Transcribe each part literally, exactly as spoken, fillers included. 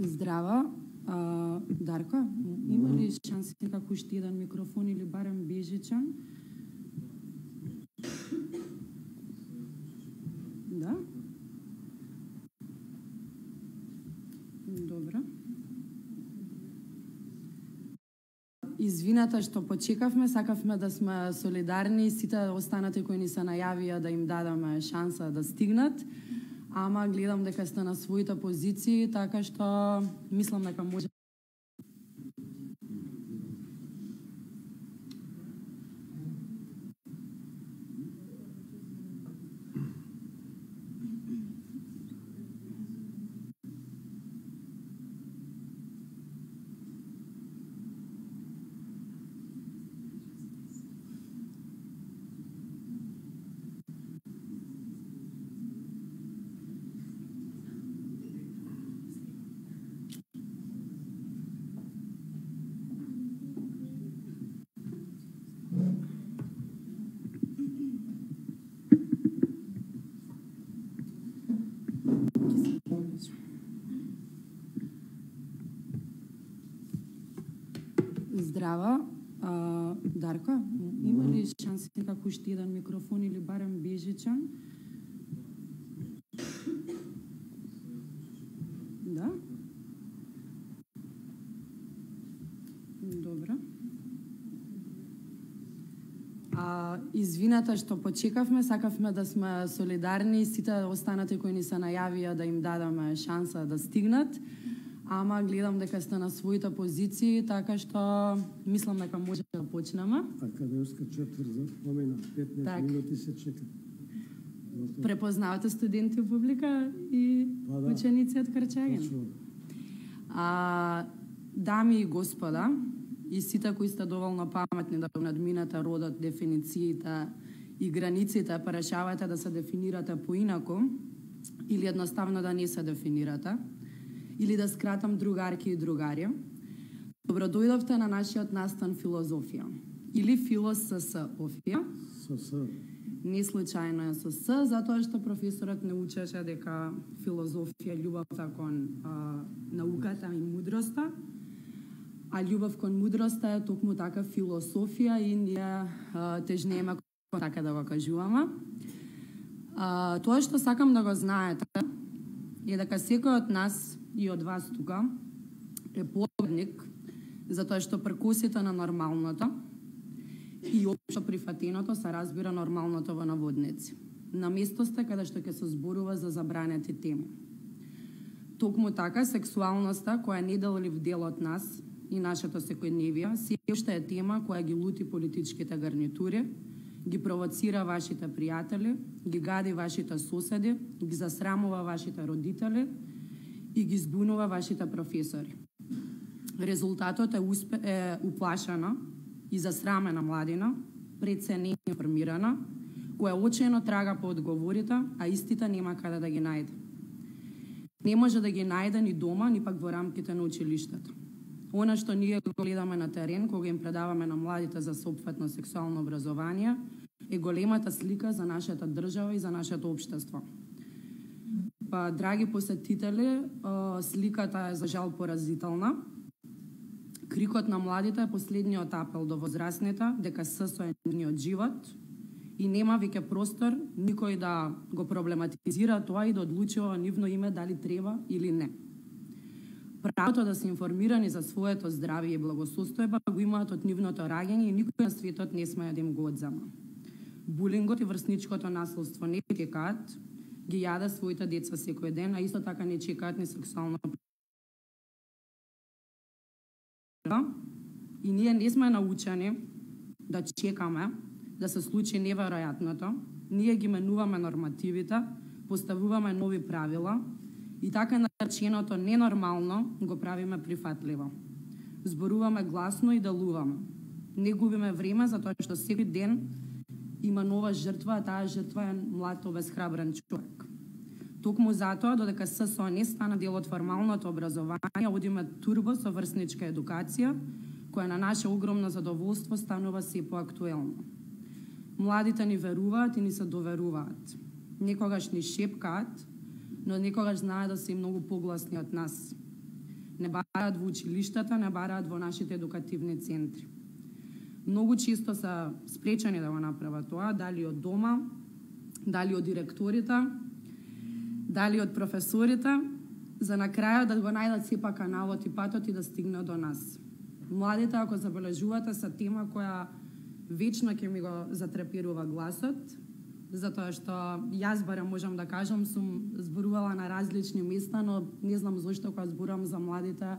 Здрава. А, Дарко, има ли шанси како уште еден микрофон или барем бежичан? Да? Добро. Извинете што почекавме, сакавме да сме солидарни, сите останати кои ни се најавија да им дадеме шанса да стигнат, ама гледам дека сте на своите позиции, така што мислам дека може. Здрава. А, Дарко, има ли шанси како уште еден микрофон или барем бежичан? Да? Добро. А, извинете што почекавме, сакавме да сме солидарни, сите останати кои ни се најавија да им дадеме шанса да стигнат, ама гледам дека сте на своите позиции, така што мислам дека може да почнеме. Академска четврт за помена, петнаесет так. Минути се чека. Препознавате студенти у публика и па, да. Ученици од Крчаген. А, дами и господа, и сите кои сте доволно паметни да надминете родот, дефинициите и границите, па решавате да се дефинирате поинаку или едноставно да не се дефинирате, или да скратам другарки и другари, добродојдовте на нашиот настан филозофија. Или философија. СС. Не случајно е со С, затоа што професорот не учеше дека филозофија љубовта кон а, науката и мудроста, а љубов кон мудроста е токму така философија и ние а, тежнеме кон така да го кажуваме. А, тоа што сакам да го знаете е дека секој од нас и од вас тука е победник, затоа што прекусите на нормалното и општо прифатеното се разбира нормалното во наводници. На место сте каде што ќе се зборува за забранети теми. Токму така, сексуалноста, која не делив дел од нас и нашето секојдневие, се уште е тема која ги лути политичките гарнитури, ги провоцира вашите пријатели, ги гади вашите соседи, ги засрамува вашите родители и ги збунува вашите професори. Резултатот е, успе, е уплашена и засрамена младина, пред се не информирана, која очајно трага по одговорите, а истите нема каде да ги најде. Не може да ги најде ни дома, ни пак во рамките на училиштето. Она што ние го гледаме на терен, кога им предаваме на младите за соопфатно сексуално образование, е големата слика за нашата држава и за нашето општество. Па, драги посетители, сликата е за жал поразителна. Крикот на младите е последниот апел до возрастните дека С со е нивниот живот и нема веќе простор никој да го проблематизира тоа и да одлучува во нивно име дали треба или не. Правото да се информирани за своето здравје и благосостојба го имаат од нивното раѓање и никој на светот не смее да им го одзема. Булингот и врсничкото насилство не чекаат, ги јаде своите деца секој ден, а исто така не чекаат ни сексуално. И ние не сме научени да чекаме да се случи неверојатното. Ние ги менуваме нормативите, поставуваме нови правила и така нареченото ненормално го правиме прифатливо. Зборуваме гласно и делуваме. Не губиме време затоа што секој ден има нова жртва, а таа жртва е млад обезхрабрен човек. Токму затоа, додека ССО не стана дел од формалното образование, одиме турбо со врсничка едукација, која на наше огромно задоволство станува се поактуелно. Младите ни веруваат и ни се доверуваат. Некогаш ни шепкаат, но некогаш знаат да се и многу погласни од нас. Не бараат во училиштата, не бараат во нашите едукативни центри. Многу често се спречени да го направат тоа, дали од дома, дали од директорите, дали од професорите, за на крајот да го најдат сепа каналот и патот и да стигнат до нас. Младите, ако забележувате, се тема која вечно ќе ми го затреперува гласот, затоа што јас барем можам да кажам, сум зборувала на различни места, но не знам зошто кога зборувам за младите,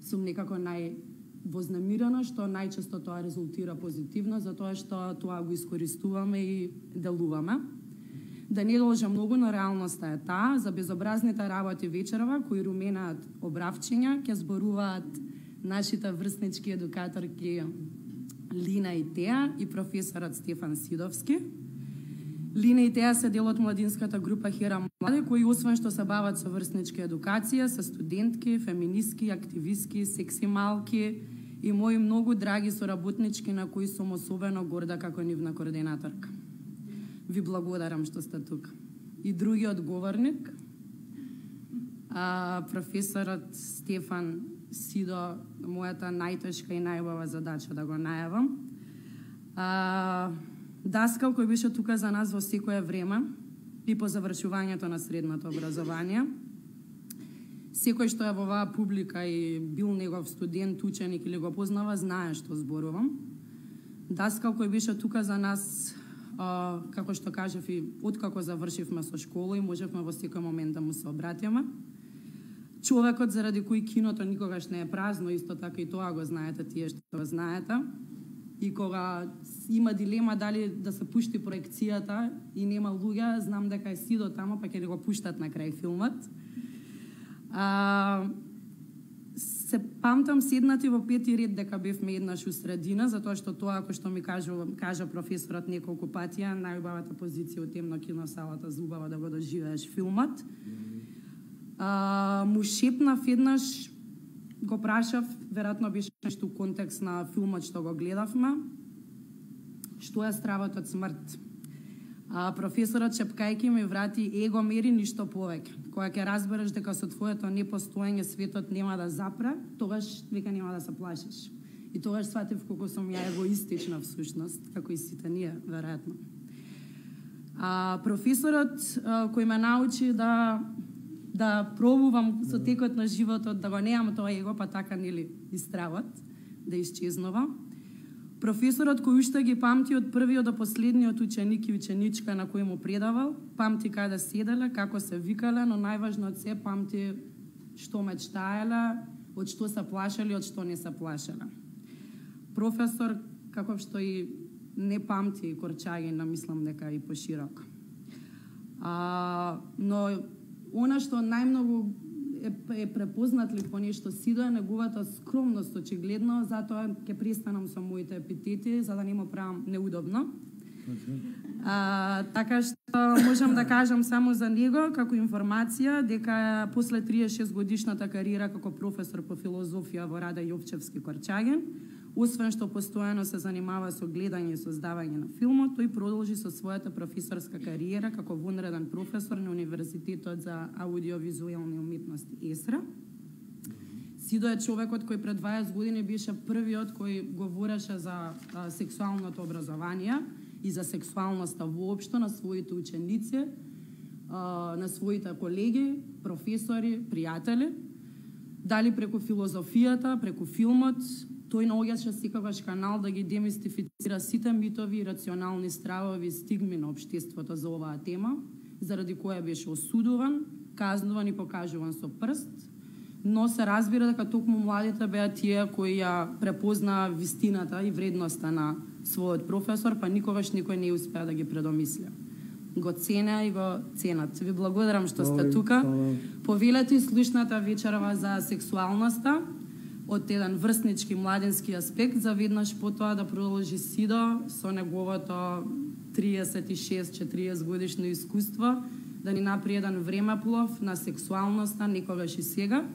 сум некако највознемирена, што најчесто тоа резултира позитивно, затоа што тоа го искористуваме и делуваме. Да не должам многу, но реалноста е таа. За безобразните работи вечерова, кои руменаат обравчиња, ќе зборуваат нашите врснички едукаторки Лина и Теа и професорот Стефан Сидовски. Лина и Теа се дел од младинската група Хера Млади, кои освен што се бават со врсничка едукација, се студентки, феминистки, активистки, секси малки и мои многу драги соработнички на кои сум особено горда како нивна координаторка. Ви благодарам што сте тука. И другиот говорник, а, професорот Стефан Сидо, мојата најтешка и најубава задача да го најавам. А, Даскал кој беше тука за нас во секое време и по завршувањето на средното образование. Секој што е во оваа публика и бил негов студент, ученик или го познава, знае што зборувам. Даскал кој беше тука за нас, а, како што кажав и откако завршивме со школа и можевме во секој момент да му се обратиме. Човекот заради кој киното никогаш не е празно, исто така и тоа го знаете тие што го знаете. И кога има дилема дали да се пушти проекцијата и нема луѓе, знам дека е Сидо тамо, па ќе го пуштат на крај филмот. А, се памтам седнати во пети ред дека бевме еднаш у средина, затоа што тоа, ако што ми кажа, кажа професорот неколку пати, е најубавата позиција од темно киносалата, зубава да го доживееш филмот. А, му шепнав еднаш, го прашав, веројатно беше нешто у контекст на филмот што го гледавме, што е стравот од смрт. А, професорот шепкајки ми врати: его мери, ништо повеќе. Кога ќе разбереш дека со твоето непостоење светот нема да запре, тогаш века нема да се плашиш. И тогаш сватив колку сум ја егоистична всушност, како и сите ние, веројатно. А, професорот а, кој ме научи да да пробувам со текот на животот, да го неам тоа его, па така нели и стравот, да исчезнува. Професорот кој уште ги памти од првиот до последниот ученик и ученичка на кој му предавал, памти каде седеле, како се викале, но најважно од се памти што мечтаеле, од што се плашеле, од што не се плашеле. Професор, како што и не памти Корчагина, мислам дека и пошироко. А, но она што најмногу е, е препознатлив по нешто Сидо е неговата скромност, очигледно, затоа ќе престанам со моите епитети, за да не му правам неудобно. А, така што можам да кажам само за него, како информација, дека после триесет и шест годишната кариера како професор по филозофија во Раде Јовчевски Корчаген, освен што постојано се занимава со гледање и создавање на филмот, тој продолжи со својата професорска кариера како вонреден професор на Универзитетот за аудиовизуелни уметности ЕСРА. Сидо е човекот кој пред дваесет години беше првиот кој говореше за а, сексуалното образование и за сексуалноста воопшто на своите ученици, а, на своите колеги, професори, пријатели, дали преку филозофијата, преку филмот. Тој наоѓаше секогаш канал да ги демистифицира сите митови и рационални стравови и стигми на општеството за оваа тема, заради која беше осудуван, казнуван и покажуван со прст, но се разбира дека токму младите беа тие кои ја препознаа вистината и вредноста на својот професор, па никогаш никој не успеа да ги предомисля. Го ценя и го ценат. Ви благодарам што сте тука. Повелете и слушната вечерова за сексуалноста, од еден врснички младенски аспект, за веднаш потоа да продолжи Сидо со неговото триесет и шест четириесет годишно искуство, да ни направи еден времеплов на сексуалноста некогаш и сега.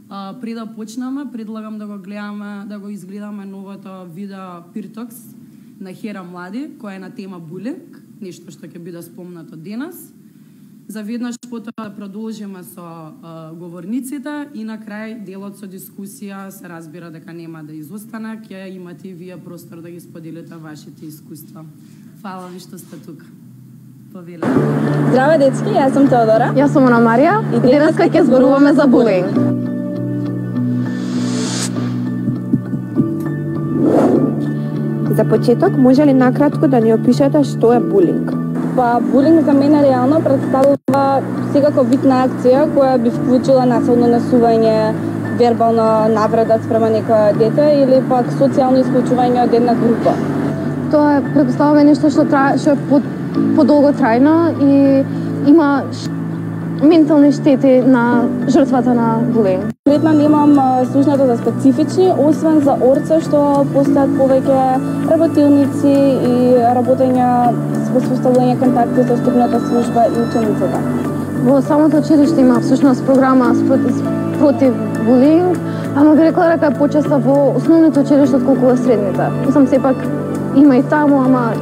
А, пред да почнеме, предлагам да го гледаме, да го изгледаме новото видео Пиртокс на Хера Млади, која е на тема булинг, нешто што ќе биде спомнато денес. За веднаш потоа да продолжиме со а, говорниците и на крај делот со дискусија се разбира дека нема да изостане, ќе имате и вие простор да ги споделите вашите искуства. Фала ви што сте тука. Повелете. Здраве дечки, јас сум Теодора. Јас сум Ана Марија и денеска ќе зборуваме за булинг. За почеток, може ли накратко да ни опишете што е булинг? Па, булинг за мене реално представува секако вид на акција која би вклучила насилно насување, вербална навреда спрема некоја дете или пак социјално исклучување од една група. Тоа е предпоставува нешто што трае, што е под подолго трајно и има ментални штети на жртвата на булинг. Конкретно немам слушнато за специфични, освен за орце што постојат повеќе работилници и работење во составување контакти со стрпната служба и учениците. Во самото училиште има всушност програма против булинг, ама би рекла дека е почесто во основните училишта отколку во средните. Мислам сепак има и таму, ама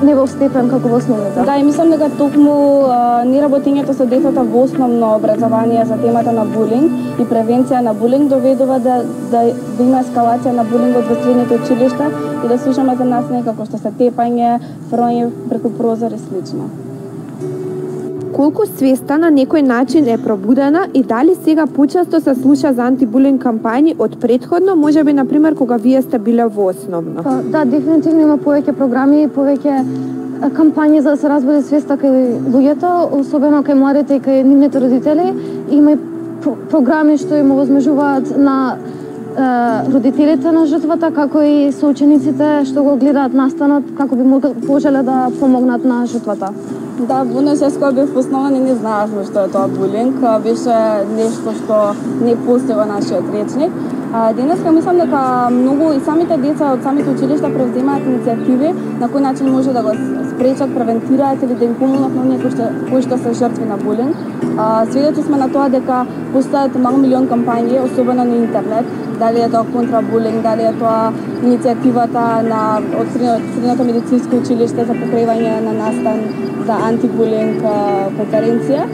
не во степен како во основните. Да, и мислам дека токму не работењето со децата во основно образование за темата на булинг и превенција на булинг доведува да, да, да има ескалација на булингот во средните училишта и да слушаме за насилие како што се тепање, фрлање преку прозор и слично. Колку свеста на некој начин е пробудена и дали сега почесто се слуша за антибулинг кампањи од претходно, можеби на пример кога вие сте биле во основно? Па, да, дефинитивно има повеќе програми и повеќе кампањи за да се разбуди свеста кај луѓето, особено кај младите и кај нивните родители. Има и про програми што им овозможуваат на е, родителите на жртвата, како и соучениците што го гледаат настанот, како би можеле да помогнат на жртвата. Да, во НСС кога бев основа не, не знаевме што е тоа булинг, беше нешто што не постои во нашиот речник. А, денеска мислам дека многу и самите деца од самите училишта превземаат иницијативи на кој начин може да го спречат, превентираат или да им помогнат на оние кои што, кои што се жртви на булинг. А, свидетели сме на тоа дека постојат мал милион кампањи, особено на интернет, дали е тоа контрабулинг, дали е тоа иницијативата на од Средното медицинско училиште за покривање на настан за антибулинг конференција.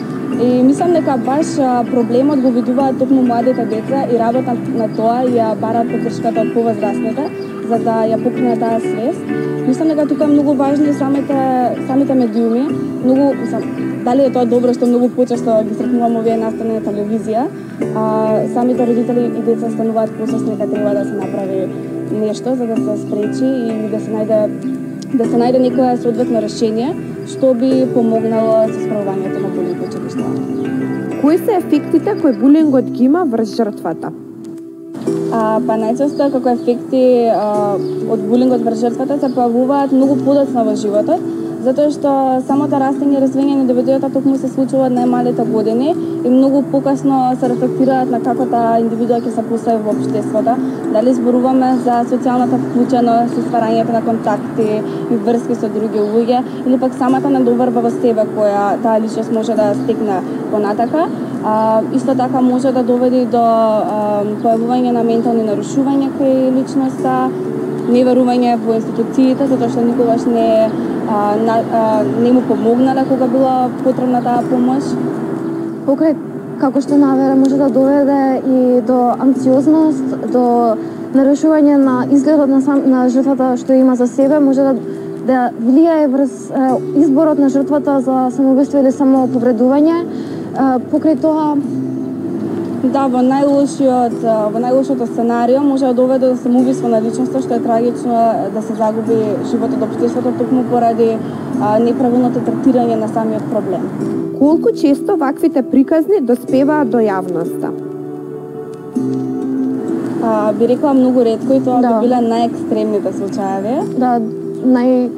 И мислам дека баш проблемот го видуваат токму младите деца и работат на тоа и ја бараат поддршката од повозрастните за да ја покринат таа свест. Мислам дека тука е многу важни самите самите медиуми, многу мислам, дали е тоа добро што многу почесто ги сретнуваме овие настани на телевизија, а самите родители и деца стануваат посвесни дека треба да се направи нешто за да се спречи и да се најде да се најде некое соодветно решение што би помогнало со справувањето на булинг во училишта. Кои се ефектите кои булингот ги има врз жртвата? А, па најчесто како ефекти а, од булингот врз жртвата се појавуваат многу подоцна во животот, затоа што самото растење и развивање на индивидуата токму се случува од најмалите години и многу покасно се рефлектираат на како таа индивидуа ќе се постави во општеството. Дали зборуваме за социјалната вклученост, со стварањето на контакти и врски со други луѓе, или пак самата недоверба во себе која таа личност може да стекне понатака. А, исто така може да доведе до а, појавување на ментални нарушувања кај личноста, неверување во институциите, затоа што никогаш не а, на, а, не му помогнале кога била потребна таа помош. Покрај како што навера може да доведе и до анксиозност, до нарушување на изгледот на, сам, на жртвата што има за себе, може да, да влијае врз е, изборот на жртвата за самоубиство или самоповредување. Е, покрај тоа Да, во најлошиот, во најлошото сценарио може да доведе до самоубиство на личноста, што е трагично да се загуби животот од општеството токму поради а, неправилното третирање на самиот проблем. Колку често ваквите приказни доспеваат до јавноста? А, би рекла многу ретко и тоа да. би биле најекстремните случаи. Да, нај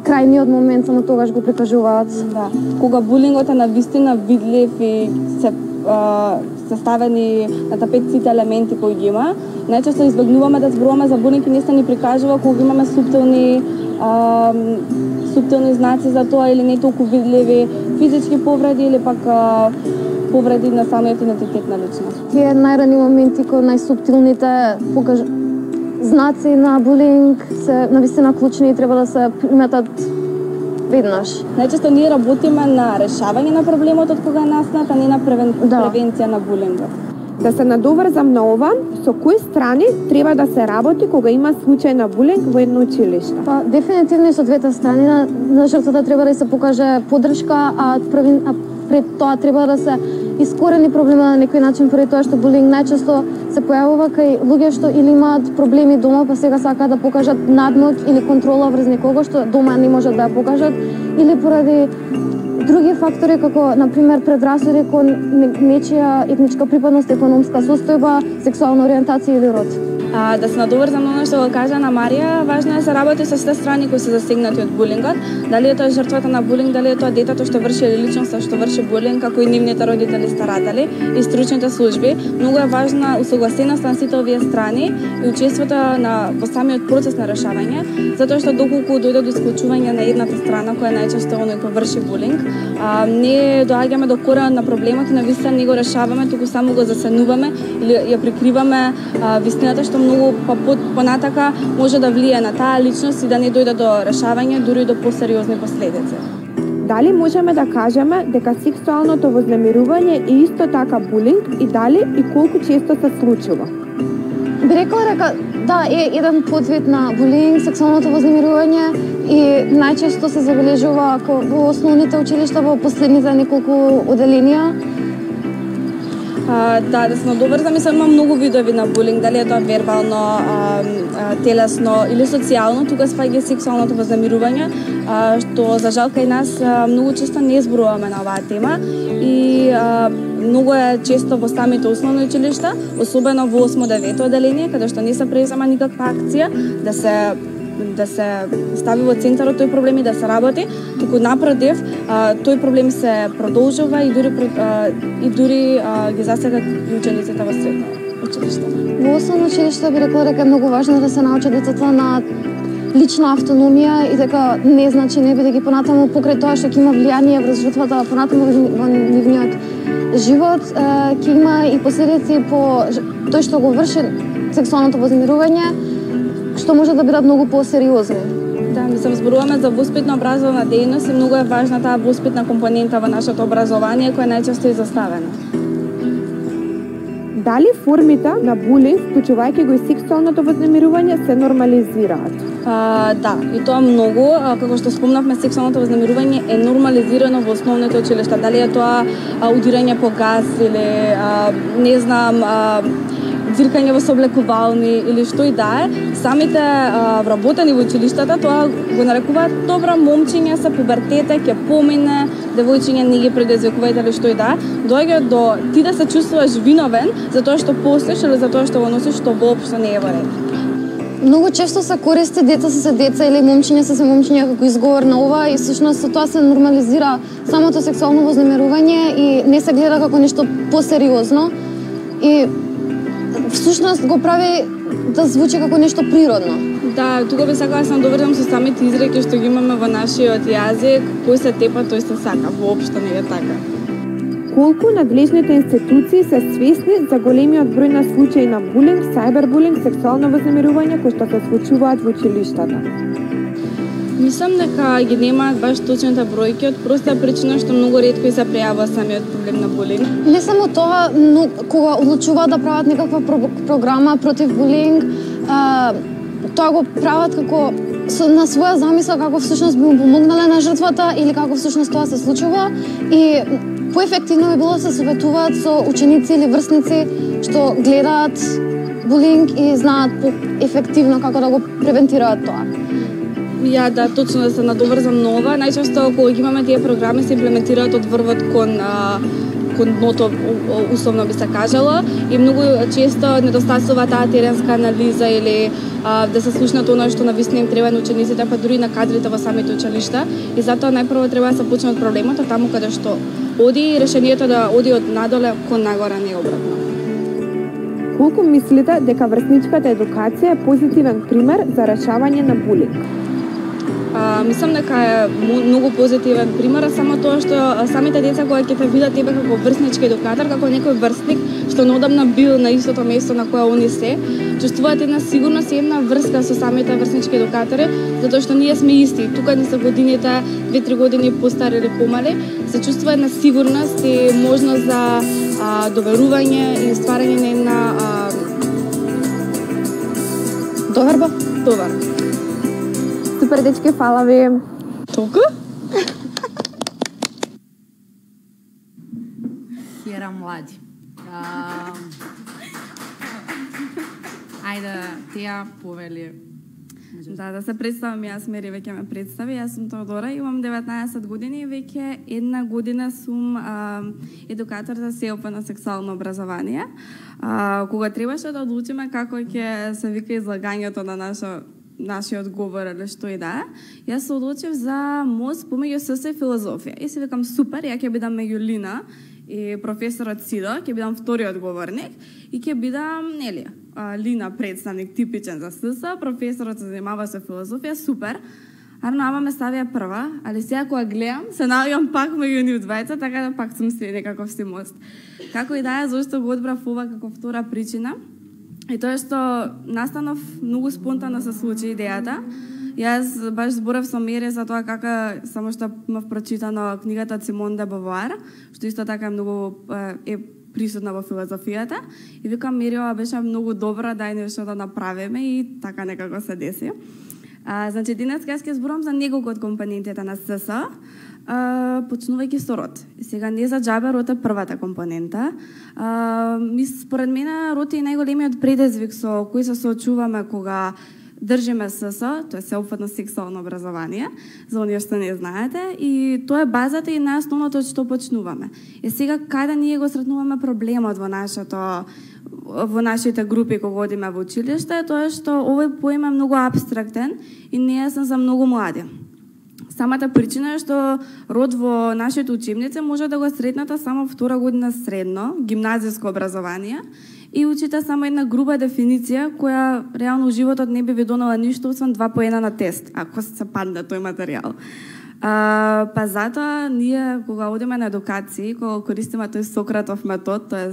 крајниот момент само тогаш го прикажуваат. Да, кога булингот е навистина видлив и се се ставени на тапет сите елементи кои ги има. Најчесто избегнуваме да зборуваме за булинг и не се ни прикажува кога имаме суптилни а, суптилни знаци за тоа или не толку видливи физички повреди или пак а, повреди на самиот идентитет на личност. Тие најрани моменти кои најсуптилните покаж... знаци на булинг се навистина клучни и треба да се приметат веднаш. Најчесто ние работиме на решавање на проблемот од кога настанат, а не на превен... да. превенција на булингот. Да се надоврзам на ова, со кои страни треба да се работи кога има случај на булинг во едно училиште? Па, дефинитивно со двете страни на, на жртвата треба да се покаже поддршка, а, превен... а пред тоа треба да се искорени проблема на некој начин, поради тоа што булинг најчесто се појавува кај луѓе што или имаат проблеми дома, па сега сакаат да покажат надмоќ или контрола врз некого што дома не можат да ја покажат, или поради други фактори како на пример предрасуди кон нечија етничка припадност, економска состојба, сексуална ориентација или род. А, да се надоврзам на оно што го кажа на Марија, важно е да се работи со сите страни кои се засегнати од булингот, дали е тоа жртвата на булинг, дали е тоа детето што врши или личноста што врши булинг, како и нивните родители, старатели и стручните служби. Многу е важна усогласеноста на сите овие страни и учеството на во самиот процес на решавање, затоа што доколку дојде до исклучување на едната страна која најчесто оној кој врши булинг, а, не доаѓаме до коренот на проблемот и на вистина не го решаваме, туку само го засенуваме или ја прикриваме а, вистината што многу понатака може да влие на таа личност и да не дојде до решавање, дури до посериозни последици. Дали можеме да кажеме дека сексуалното вознемирување е исто така булинг и дали и колку често се случува? Би рекла дека да, е еден подвид на булинг, сексуалното вознемирување и најчесто се забележува во основните училишта во последните неколку оделенија. А, да, да се надоврзам, мислам, има многу видови на булинг, дали е тоа вербално, а, а, телесно или социјално, тука спаѓа сексуалното вознемирување, а, што за жал кај нас а, многу често не зборуваме на оваа тема и а, многу е често во самите основни училишта, особено во осмо-девето оделение, каде што не се презема никаква акција да се да се стави во центарот тој проблем и да се работи, туку напротив, а, тој проблем се продолжува и дури а, и дури а, ги засега и учениците во средно училиште. Во основно училиште би рекла дека е многу важно да се научат децата на лична автономија и дека не значи не бидејќи понатаму покрај тоа што ќе има влијание врз жртвата понатаму во нивниот живот, ќе има и последици по тој што го врши сексуалното вознемирување, што може да бидат многу посериозни. Да, мислам, зборуваме за воспитно образовна дејност и многу е важна таа воспитна компонента во нашето образование, која најчесто е изоставена. Дали формите на булинг, вклучувајќи го и сексуалното вознемирување, се нормализираат? А, да, и тоа многу, а, како што спомнавме, сексуалното вознемирување е нормализирано во основните училишта. Дали е тоа а, удирање по газ или а, не знам, а, дзиркање во сооблекувални или што и да е, самите а, вработени во училиштата тоа го нарекуваат добра, момчиња се пубертете, ќе помине, девојчиња не ги предизвикувајте или што и да е, доаѓа до ти да се чувствуваш виновен за тоа што постоиш или за тоа што го носиш, што воопшто не е во ред. Многу често се користи деца се се деца или момчиња се се момчиња како изговор на ова и всушност со тоа се нормализира самото сексуално вознемирување и не се гледа како нешто посериозно и всушност го прави да звучи како нешто природно. Да, тука би сакала да се надоврзам со самите изреки што ги имаме во нашиот јазик, кој се тепа, тој се сака, воопшто не е така. Колку надлежните институции се свесни за големиот број на случаи на булинг, сајбербулинг, сексуално вознемирување кои што се случуваат во училиштата? Мислам дека ги немаат баш точните бројки од проста причина што многу ретко се прејавува самиот проблем на булинг. Не само тоа, но кога одлучуваат да прават некаква про програма против булинг, а, тоа го прават како со, на своја замисла како всушност би му помогнале на жртвата или како всушност тоа се случува и поефективно би било да се советуваат со ученици или врсници што гледаат булинг и знаат поефективно како да го превентираат тоа. Ја, да, точно да се надоврзам на ова. Најчесто кога ги имаме тие програми се имплементираат од врвот кон а, кон дното, условно би се кажало, и многу често недостасува таа теренска анализа или а, да се слушнат оно што навистина им треба на учениците, па дури на кадрите во самите училишта. И затоа најпрво треба да се почне од проблемот, таму каде што оди решението да оди од надоле кон нагоре, не обратно. Колку мислите дека врсничката едукација е позитивен пример за решавање на булинг? А, мислам дека е многу позитивен пример, само тоа што самите деца кога ќе те видат тебе како врснички едукатор, како некој врсник што неодамна бил на истото место на кое они се, чувствуваат една сигурност и една врска со самите врснички едукатори, затоа што ние сме исти. Тука не се годините, две-три години постари или помали, се чувствува една сигурност и можност за а, доверување и стварање на една а... доверба, доверба. Супер, дечки, фала ви. Толку? Хера млади. А... Ајде, Теја повели. Да, да се представам, јас Мери веќе ме представи, јас сум Теодора, имам деветнаесет години и веќе една година сум а, едукатор за СЕОП на сексуално образование. А, кога требаше да одлучиме како ќе се вика излагањето на наша нашиот говор или што и да, јас се одлучив за мост помеѓу СС и филозофија. И се викам супер, ја ќе бидам меѓу Лина и професорот Сидо, ќе бидам вториот говорник и ќе бидам, нели, Лина представник типичен за СС, професорот се занимава со филозофија, супер. Арно, ама ме ставија прва, али сега кога гледам, се наоѓам пак меѓу нив двајца, така да пак сум си некаков си мост. Како и да е, зашто го одбрав ова како втора причина, и тоа што настанов многу спонтано се случи идејата. Јас баш зборев со Мери за тоа како само што имав прочитано книгата од Симон де Бовуар, што исто така е многу е присутна во филозофијата, и викам Мери, ова беше многу добра, дај нешто да направиме, и така некако се деси. А, значи, денес јас ќе зборам за неколку од компонентите на СС, а, почнувајќи со род. И сега не за џабе род е првата компонента. А, мис, според мене род е најголемиот предизвик со кој се соочуваме кога држиме СС, тоа е сеопфатно сексуално образование, за оние што не знаете, и тоа е базата и најосновното од што почнуваме. И сега каде ние го сретнуваме проблемот во нашето во нашите групи кога одиме во училиште, тоа е што овој поем е многу апстрактен и не е за многу млади. Самата причина е што род во нашите учебници може да го сретнете само втора година средно, гимназиско образование, и учите само една груба дефиниција која реално у животот не би ви донела ништо освен два поена на тест, ако се падне тој материјал. А, па затоа ние кога одиме на едукација, кога користиме тој Сократов метод, тоа е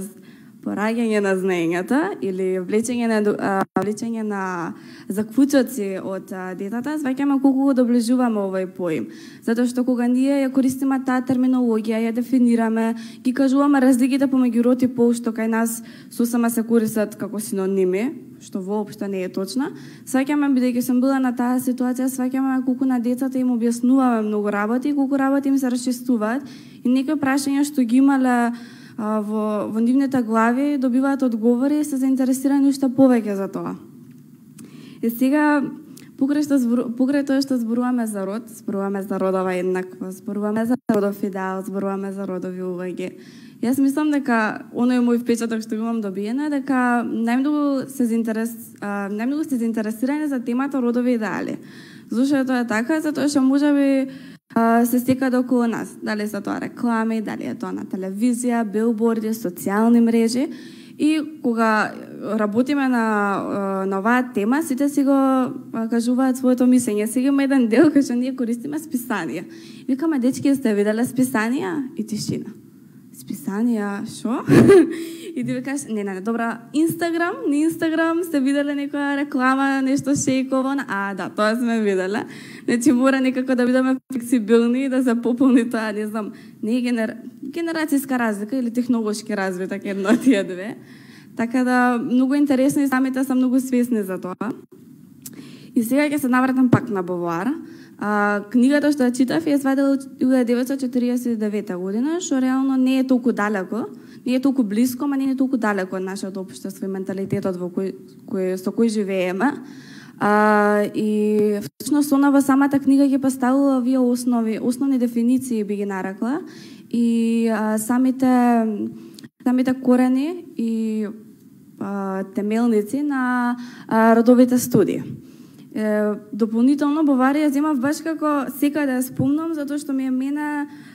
пораѓање на знаењата или влечење на а, влечење на заклучоци од а, детата, сваќаме колку го доближуваме овој поим. Затоа што кога ние ја користиме таа терминологија, ја дефинираме, ги кажуваме разликите помеѓу род и пол што кај нас сосема се користат како синоними, што воопшто не е точна, сваќаме, бидејќи сум била на таа ситуација, сваќаме колку на децата им објаснуваме многу работи, колку работи им се расчистуваат и некои прашања што ги имале во, во нивните глави добиваат одговори и се заинтересирани уште повеќе за тоа. И сега, покрај, што збору, покрај тоа што зборуваме за род, зборуваме за родова еднаквост, зборуваме за родов идеал, зборуваме за родови улоги. Јас мислам дека оној мој впечаток што имам добиено е дека најмногу се заинтерес, најмногу се заинтересирани за темата родови идеали. Зошто тоа е така? Затоа што можеби се стекаат околу нас. Дали се тоа реклами, дали е тоа на телевизија, билборди, социјални мрежи. И кога работиме на, на оваа тема, сите си го кажуваат своето мислење. Сега има еден дел кај што ние користиме списанија. Викаме, дечки, сте виделе списанија? И тишина. Списанија, шо? И ти викаш, не, не, не, добра, Инстаграм, на Инстаграм сте виделе некоја реклама, нешто шејково, а, да, тоа сме виделе. Значи, мора некако да бидеме флексибилни и да се пополни тоа, не знам, не е генер... генерацијска разлика или технолошки развиток, едно од тие две. Така да, многу интересно и самите се многу свесни за тоа. И сега ќе се навратам пак на Бовуар. А, книгата што ја читав ја извадила во деветстотини четиридесет и девета година, што реално не е толку далеко, не е толку близко, ма не е толку далеко од нашето општество и менталитетот во кој, кој, со кој живееме. А, и всушност она во самата книга ги поставила овие основи, основни дефиниции би ги нарекла, и а, самите самите корени и а, темелници на а, родовите студии. Е, дополнително Баварија земав баш како секаде да спомнам, затоа што ми е мене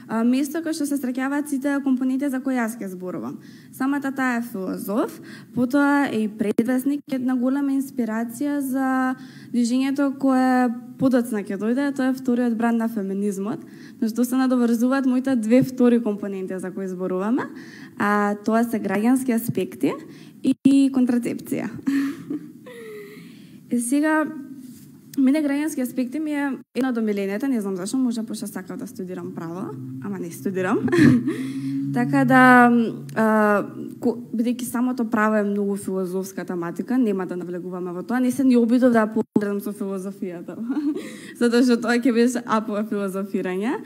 а, место кај што се среќаваат сите компоненти за кои јас ќе зборувам. Самата таа е филозоф, потоа е и предвесник, една голема инспирација за движењето кое подоцна ќе дојде, тоа е вториот бранд на феминизмот, на што се надоврзуваат моите две втори компоненти за кои зборуваме, а тоа се граѓански аспекти и контрацепција. И сега, мене граѓански аспекти ми е една од омилените, не знам зашто, може пошто сакав да студирам право, ама не студирам. Така да, бидејќи самото право е многу филозофска тематика, нема да навлегуваме во тоа, не се ни обидов да погледам со филозофијата, затоа што тоа ќе беше апо филозофирање.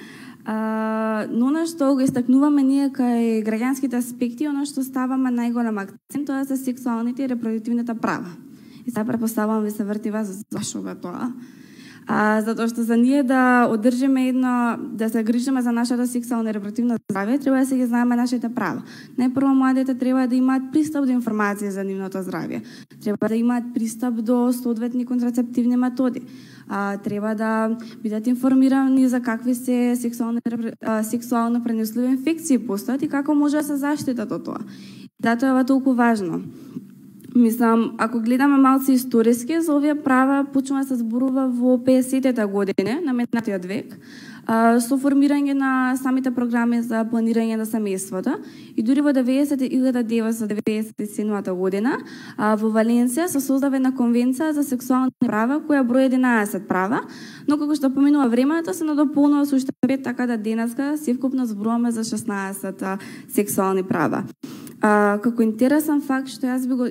Uh, но на што го истакнуваме ние кај граѓанските аспекти, оно што ставаме најголем акцент, тоа се сексуалните и репродуктивните права. И сега препоставувам ви се врти вас зашо бе тоа. А, затоа што за ние да одржиме едно, да се грижиме за нашата сексуална и репродуктивна здравје, треба да се ги знаеме нашите права. Најпрво младите треба да имаат пристап до информација за нивното здравје. Треба да имаат пристап до соодветни контрацептивни методи. А, треба да бидат информирани за какви се сексуални, сексуално пренесливи инфекции постојат и како може да се заштитат од тоа. Затоа е толку важно. Мислам, ако гледаме малце историски, за овие права почнува да се зборува во песетте години на минатиот век, а, со формирање на самите програми за планирање на семејството. И дури во илјада деветстотини деветдесет и седма година а, во Валенсија се создава една конвенција за сексуални права која брои единаесет права, но како што поминува времето се надополнува со уште пет, така да денеска севкупно зборуваме за шеснаесет сексуални права. А, како интересен факт што јас би го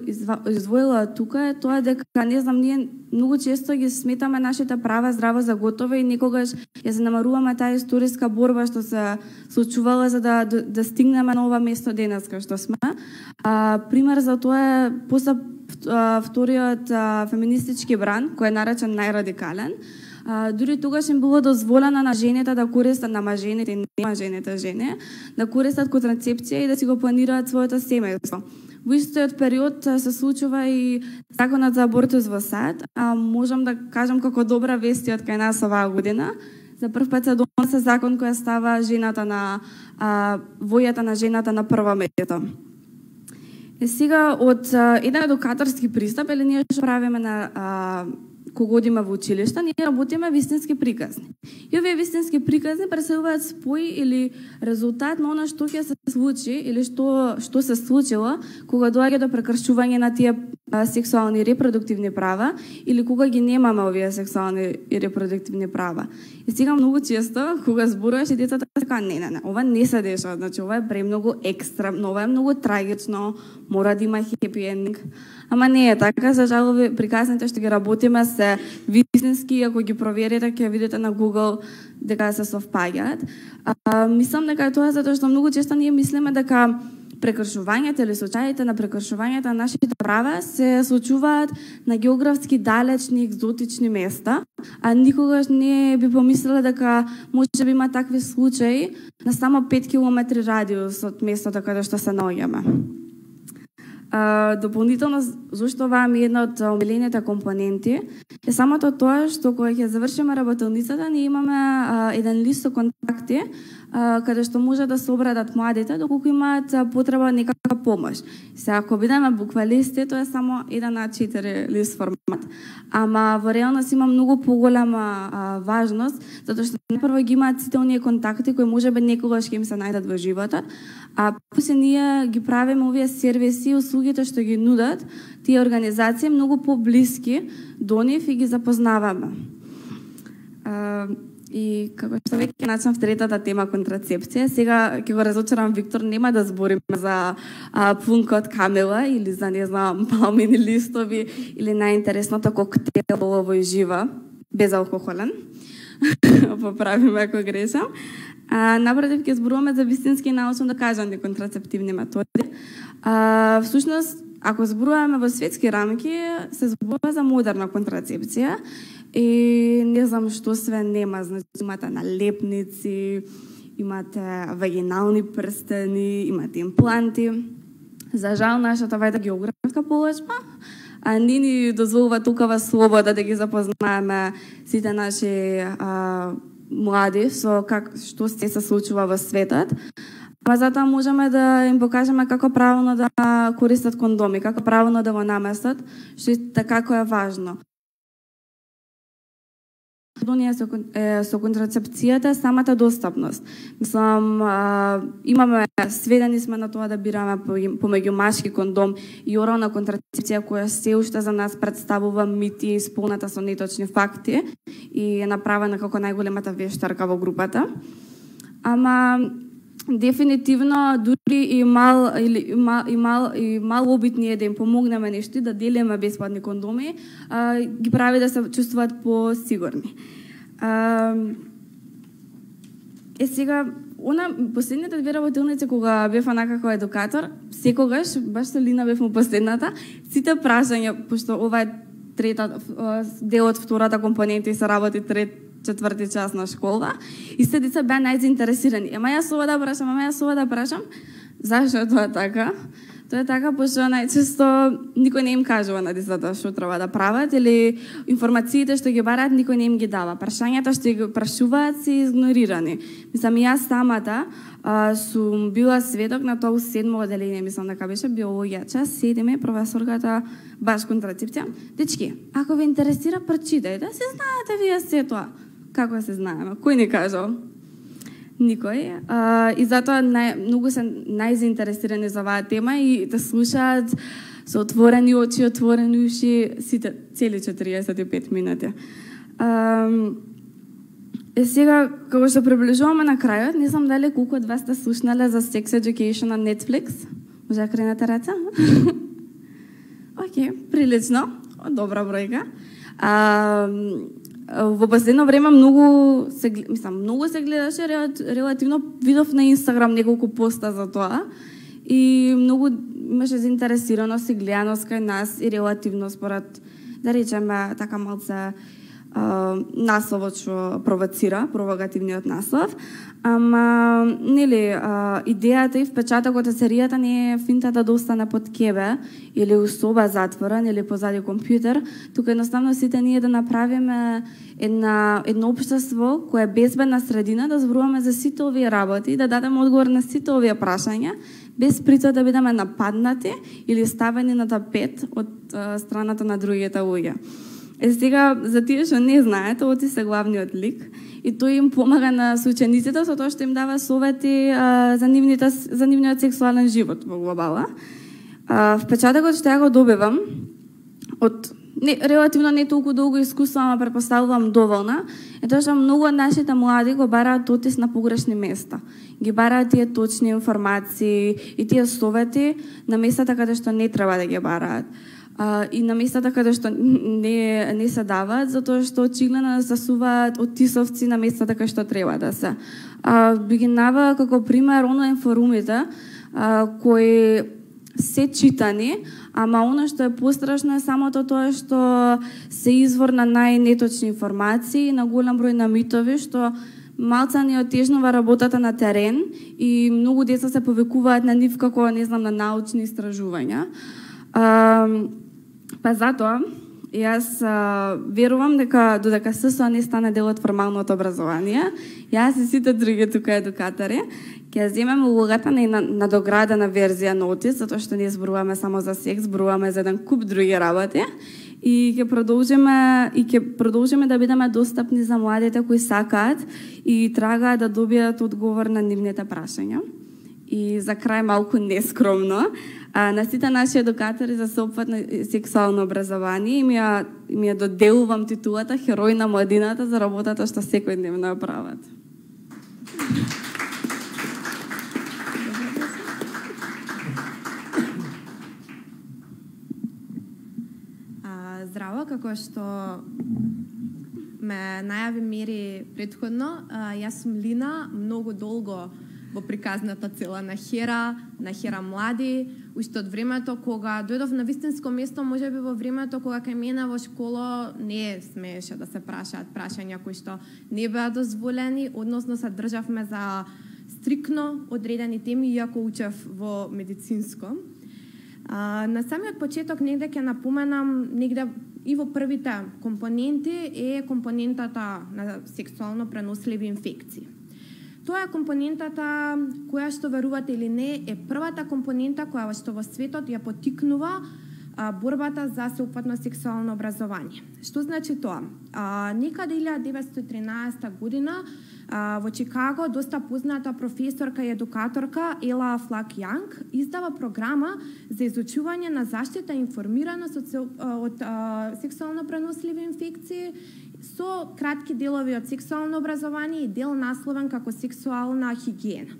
издвоила тука е тоа дека, не знам, ние многу често ги сметаме нашите права здраво за готово и некогаш ја занемаруваме таа историска борба што се случувала за да, да, да стигнеме на ова место денеска што сме. А, пример за тоа е после вториот а, феминистички бранд, кој е наречен најрадикален. А, дури тогаш им било дозволено на жените да користат, на мажените и не мажените жени, да користат контрацепција и да си го планираат своето семејство. Во истиот период се случува и законот за абортус во САД, а можам да кажам како добра вести од кај нас оваа година. За прв пат се донесе закон која става жената на а, војата на жената на прво место. Е сега од а, еден едукаторски пристап, или ние што правиме на а, кога одиме во училиште, ние работиме вистински приказни. И овие вистински приказни представуваат спој или резултат на она што ќе се случи или што што се случило кога доаѓа до прекршување на тие а, сексуални и репродуктивни права или кога ги немаме овие сексуални и репродуктивни права. И сега многу често кога зборуваш и децата така не, не, не, ова не се дешава, значи ова е премногу екстремно, ова е многу трагично, мора да има хепи ендинг. Ама не е така, за жал приказните што ги работиме се вистински, ако ги проверите ќе видите на Google дека се совпаѓаат. А, мислам дека тоа затоа што многу често ние мислиме дека прекршувањата или случаите на прекршувањата на нашите права се случуваат на географски далечни, екзотични места, а никогаш не би помислила дека може би има такви случаи на само пет километри радиус од местото каде што се наоѓаме. Uh, дополнително, зашто оваа ми е една од омилените компоненти, е самото тоа што кога ќе завршиме работилницата, ние имаме uh, еден лист со контакти uh, каде што може да се обрадат младите доколку имаат uh, потреба некаква помош. Сега, ако бидеме буквалисти, тоа е само еден а четири лист формат, ама во реалност има многу поголема uh, важност, затоа што прво ги имаат сите оние контакти кои можеби некогаш ќе им се најдат во животот, а после ние ги правиме овие сервиси и услугите што ги нудат тие организации многу поблиски до нив и ги запознаваме. А, и како што веќе начнав третата тема контрацепција, сега ќе го разочарам Виктор, нема да збориме за а, пунка од камела или за, не знам, палмини листови или најинтересното коктейл во жива, безалкохолен. Поправиме ако грешам. А, напротив, ќе зборуваме за вистински научно докажани контрацептивни методи. А, всушност, ако зборуваме во светски рамки, се зборува за модерна контрацепција и не знам што све нема. Значи, имате налепници, имате вагинални прстени, имате импланти. За жал, нашата вајда географска полочба а не ни дозволува толкова слобода да ги запознаеме сите наши а, млади со как што се се случува во светот. Па затоа можеме да им покажеме како правилно да користат кондоми, како правилно да го наместат, што е како е важно. Со, е, со контрацепцијата самата достапност. Мислам, а, имаме сведени сме на тоа да бираме помеѓу машки кондом и орална контрацепција која се уште за нас представува мити исполната со неточни факти и е направена како најголемата вештарка во групата. Ама дефинитивно дури и мал или мал и мал и мал обитни е да им помогнеме нешто, да делиме бесплатни кондоми, а, ги прави да се чувствуваат посигурни. А, е сега она последните две работилници кога бев онака како едукатор, секогаш баш со Лина бев му последната, сите прашања, пошто ова е трета дел од втората компонента и се работи трет четврти час на школа, и се деца беа најзаинтересирани. Ема јас ова да прашам, ама јас ова да прашам. Зашто е тоа така? Тоа е така пошто најчесто никој не им кажува на децата што треба да прават или информациите што ги бараат никој не им ги дава. Прашањата што ги прашуваат се игнорирани. Мислам, јас самата а, сум била сведок на тоа у седмо оделение, мислам дека беше биологија час, седиме професорката баш контрацепција. Дечки, ако ве интересира, прочитајте, се знаете вие се тоа. Како се знаеме? Кој ни кажал? Никој. А, и затоа нај, многу се најзаинтересирани за оваа тема и да слушаат со отворени очи, отворени уши, сите, цели четириесет и пет минути. А, е сега, како што приближуваме на крајот, не знам дали колку од вас сте слушнале за Sex Education на Netflix. Може да кренете раца? Океј, прилично. Добра бројка. А, во последно време многу се, мислам, многу се гледаше, релативно видов на Инстаграм неколку поста за тоа и многу имаше заинтересираност и гледаност кај нас и релативно според, да речеме, така малце насловот што провоцира, провокативниот наслов. Ама, нели, а, идејата и впечатокот од серијата не е финтата да остане под кебе или у соба затворен или позади компјутер, туку едноставно сите ние да направиме една, едно општество кое е безбедна средина, да зборуваме за сите овие работи, да дадеме одговор на сите овие прашања, без при тоа да бидеме нападнати или ставени на тапет од а, страната на другите луѓе. Е сега, за тие што не знаете, Оти се главниот лик и тој им помага на соучениците со тоа што им дава совети а, за, нивните, за нивниот сексуален живот во глобала. А, впечатокот што ја го добивам од не, релативно не толку долго искуство, ама претпоставувам доволна, е тоа што многу од нашите млади го бараат Отис на погрешни места. Ги бараат тие точни информации и тие совети на местата каде што не треба да ги бараат. Uh, и на местата каде што не, не се даваат, затоа што очигледно засуваат отисовци на местата каде што треба да се. Uh, би ги навела како пример онлайн форумите, uh, кои се читани, ама оно што е пострашно е самото тоа што се извор на најнеточни информации, на голем број на митови, што малца ни отежнува работата на терен и многу деца се повикуваат на нив како, не знам, на научни истражувања. Uh, Па затоа, јас а, верувам дека додека ССО не стане дел од формалното образование, јас и сите други тука едукатори ќе земеме улогата на надоградена верзија на Отис, затоа што не зборуваме само за секс, зборуваме за еден куп други работи и ќе продолжиме и ќе продолжиме да бидеме достапни за младите кои сакаат и трагаат да добијат одговор на нивните прашања. И за крај малку нескромно, а, на сите наши едукатори за сеопфатно сексуално образование им ја, им ја доделувам титулата Херој на младината за работата што секојдневно ја прават. А, здраво, како што ме најави Мери предходно, а, јас сум Лина, многу долго во приказната цела на Хера, на Хера млади, уште од времето кога дојдов на вистинско место, можеби во времето кога кај мене во школа не смееше да се прашаат прашања кои што не беа дозволени, односно се државме за стрикно одредени теми, иако учев во медицинско. А, на самиот почеток негде ќе напоменам, негде и во првите компоненти е компонентата на сексуално преносливи инфекции. Тоа е компонентата која, што верувате или не, е првата компонента која што во светот ја поттикнува а, борбата за сеопфатно сексуално образование. Што значи тоа? А, некаде илјада деветстотини и тринаесета година а, во Чикаго доста позната професорка и едукаторка Ела Флак Јанг издава програма за изучување на заштита и информираност од, од а, сексуално преносливи инфекции со кратки делови од сексуално образование и дел насловен како сексуална хигиена.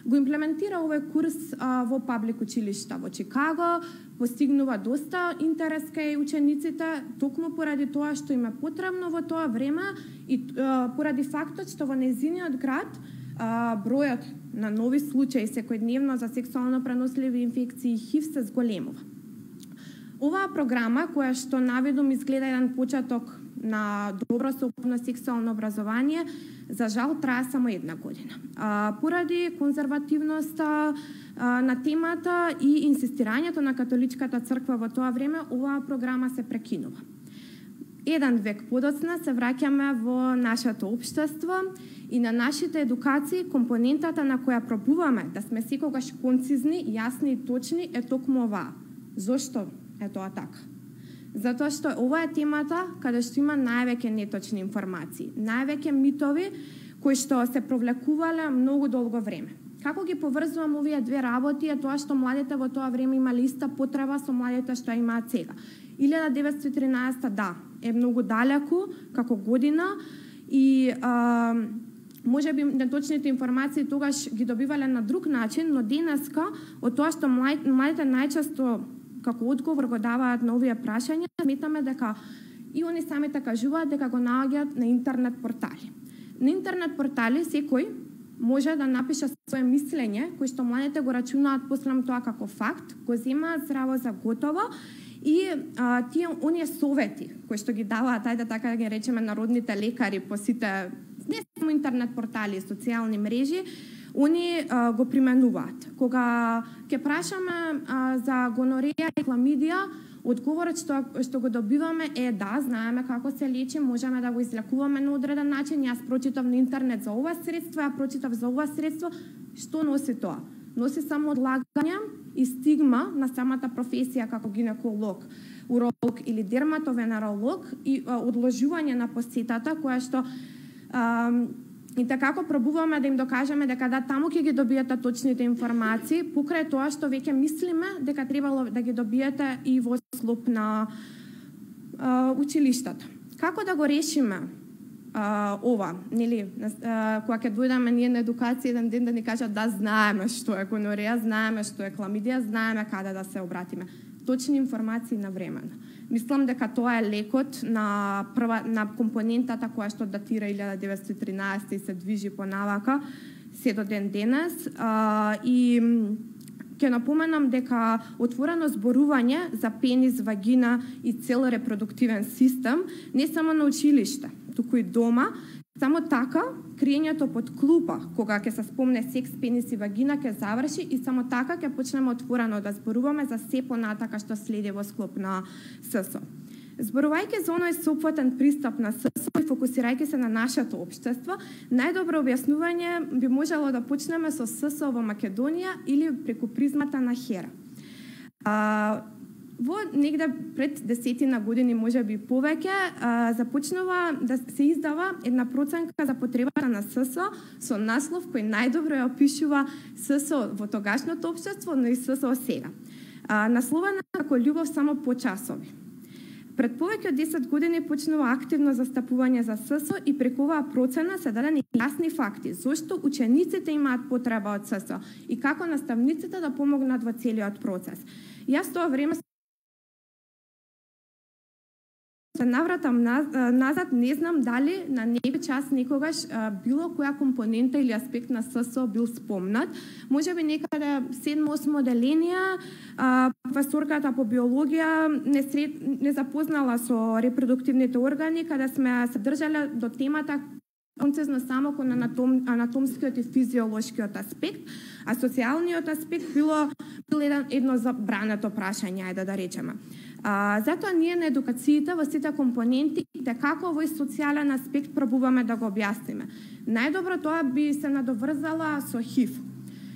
Го имплементира овој курс а, во паблик училишта во Чикаго, постигнува доста интерес кај учениците, токму поради тоа што им е потребно во тоа време и а, поради фактот што во нејзиниот град а, бројот на нови случаи секојдневно за сексуално преносливи инфекции и ХИВ се зголемува. Оваа програма, која што наведом изгледа еден почеток на добро сеопфатно сексуално образование, за жал трае само една година. А, поради конзервативноста а, на темата и инсистирањето на католичката црква во тоа време, оваа програма се прекинува. Еден век подоцна се враќаме во нашето општество и на нашите едукации компонентата на која пробуваме да сме секогаш концизни, јасни и точни е токму оваа. Зошто е тоа така? Затоа што ова е темата каде што има највеќе неточни информации, највеќе митови кои што се провлекувале многу долго време. Како ги поврзувам овие две работи е тоа што младите во тоа време имале иста потреба со младите што имаат сега. илјада деветстотини и тринаесета да, е многу далеку како година и а, може би неточните информации тогаш ги добивале на друг начин, но денеска од тоа што младите најчесто како одговор го даваат на овие прашања, сметаме дека и они самите кажуваат дека го наоѓаат на интернет портали. На интернет портали секој може да напише свое мислење, кој што младите го рачунаат после тоа како факт, го земаат здраво за готово и а, тие оние совети кои што ги даваат, ајде така да ги речеме народните лекари по сите не само интернет портали и социјални мрежи, они а, го применуваат. Кога ќе прашаме а, за гонореја и хламидија, одговорот што, што го добиваме е да, знаеме како се лечи, можеме да го излекуваме на одреден начин. Јас прочитав на интернет за ова средство, ја прочитав за ова средство. Што носи тоа? Носи само одлагање и стигма на самата професија како гинеколог, уролог или дерматовенеролог и а, одложување на посетата која што а, и така како пробуваме да им докажеме дека да, таму ќе ги добиете точните информации, покрај тоа што веќе мислиме дека требало да ги добиете и во склоп на а, училиштата. Како да го решиме а, ова, нели, а, кога ќе дојдеме ние на едукација еден ден да ни кажат да знаеме што е гонореја, знаеме што е хламидија, знаеме каде да се обратиме. Точни информации навремено. Мислам дека тоа е лекот на прва на компонентата која што датира илјада деветстотини и тринаесета и се движи понавака се до ден денес. А, и ќе напоменам дека отворено зборување за пенис, вагина и цел репродуктивен систем не само на училиште, туку и дома. Само така, криењето под клупа, кога ќе се спомне секс, пенис и вагина, ќе заврши и само така ќе почнеме отворено да зборуваме за се понатака што следи во склоп на ССО. Зборувајќи за оној сеопфатен пристап на ССО и фокусирајќи се на нашето општество, најдобро објаснување би можело да почнеме со ССО во Македонија или преку призмата на Хера. А, Во негде пред десетина години, може би повеќе, а, започнува да се издава една проценка за потребата на ССО со наслов кој најдобро ја опишува ССО во тогашното општество, но и ССО сега. А, насловена како љубов само по часови. Пред повеќе од десет години почнува активно застапување за ССО и преку оваа процена се дадени јасни факти зошто учениците имаат потреба од ССО и како наставниците да помогнат во целиот процес. Јас тоа време се навратам назад, не знам дали на некој час некогаш а, било која компонента или аспект на ССО бил спомнат. Може би некаде седмо-осмо деление, а, професорката по биологија не, сред, не запознала со репродуктивните органи, каде сме се држале до темата концизно само кон анатом, анатомскиот и физиолошкиот аспект, а социјалниот аспект било било едно, едно забрането прашање, ајде да речеме. А, затоа ние на едукацијата во сите компоненти како овој социјален аспект пробуваме да го објасниме. Најдобро тоа би се надоврзала со ХИВ.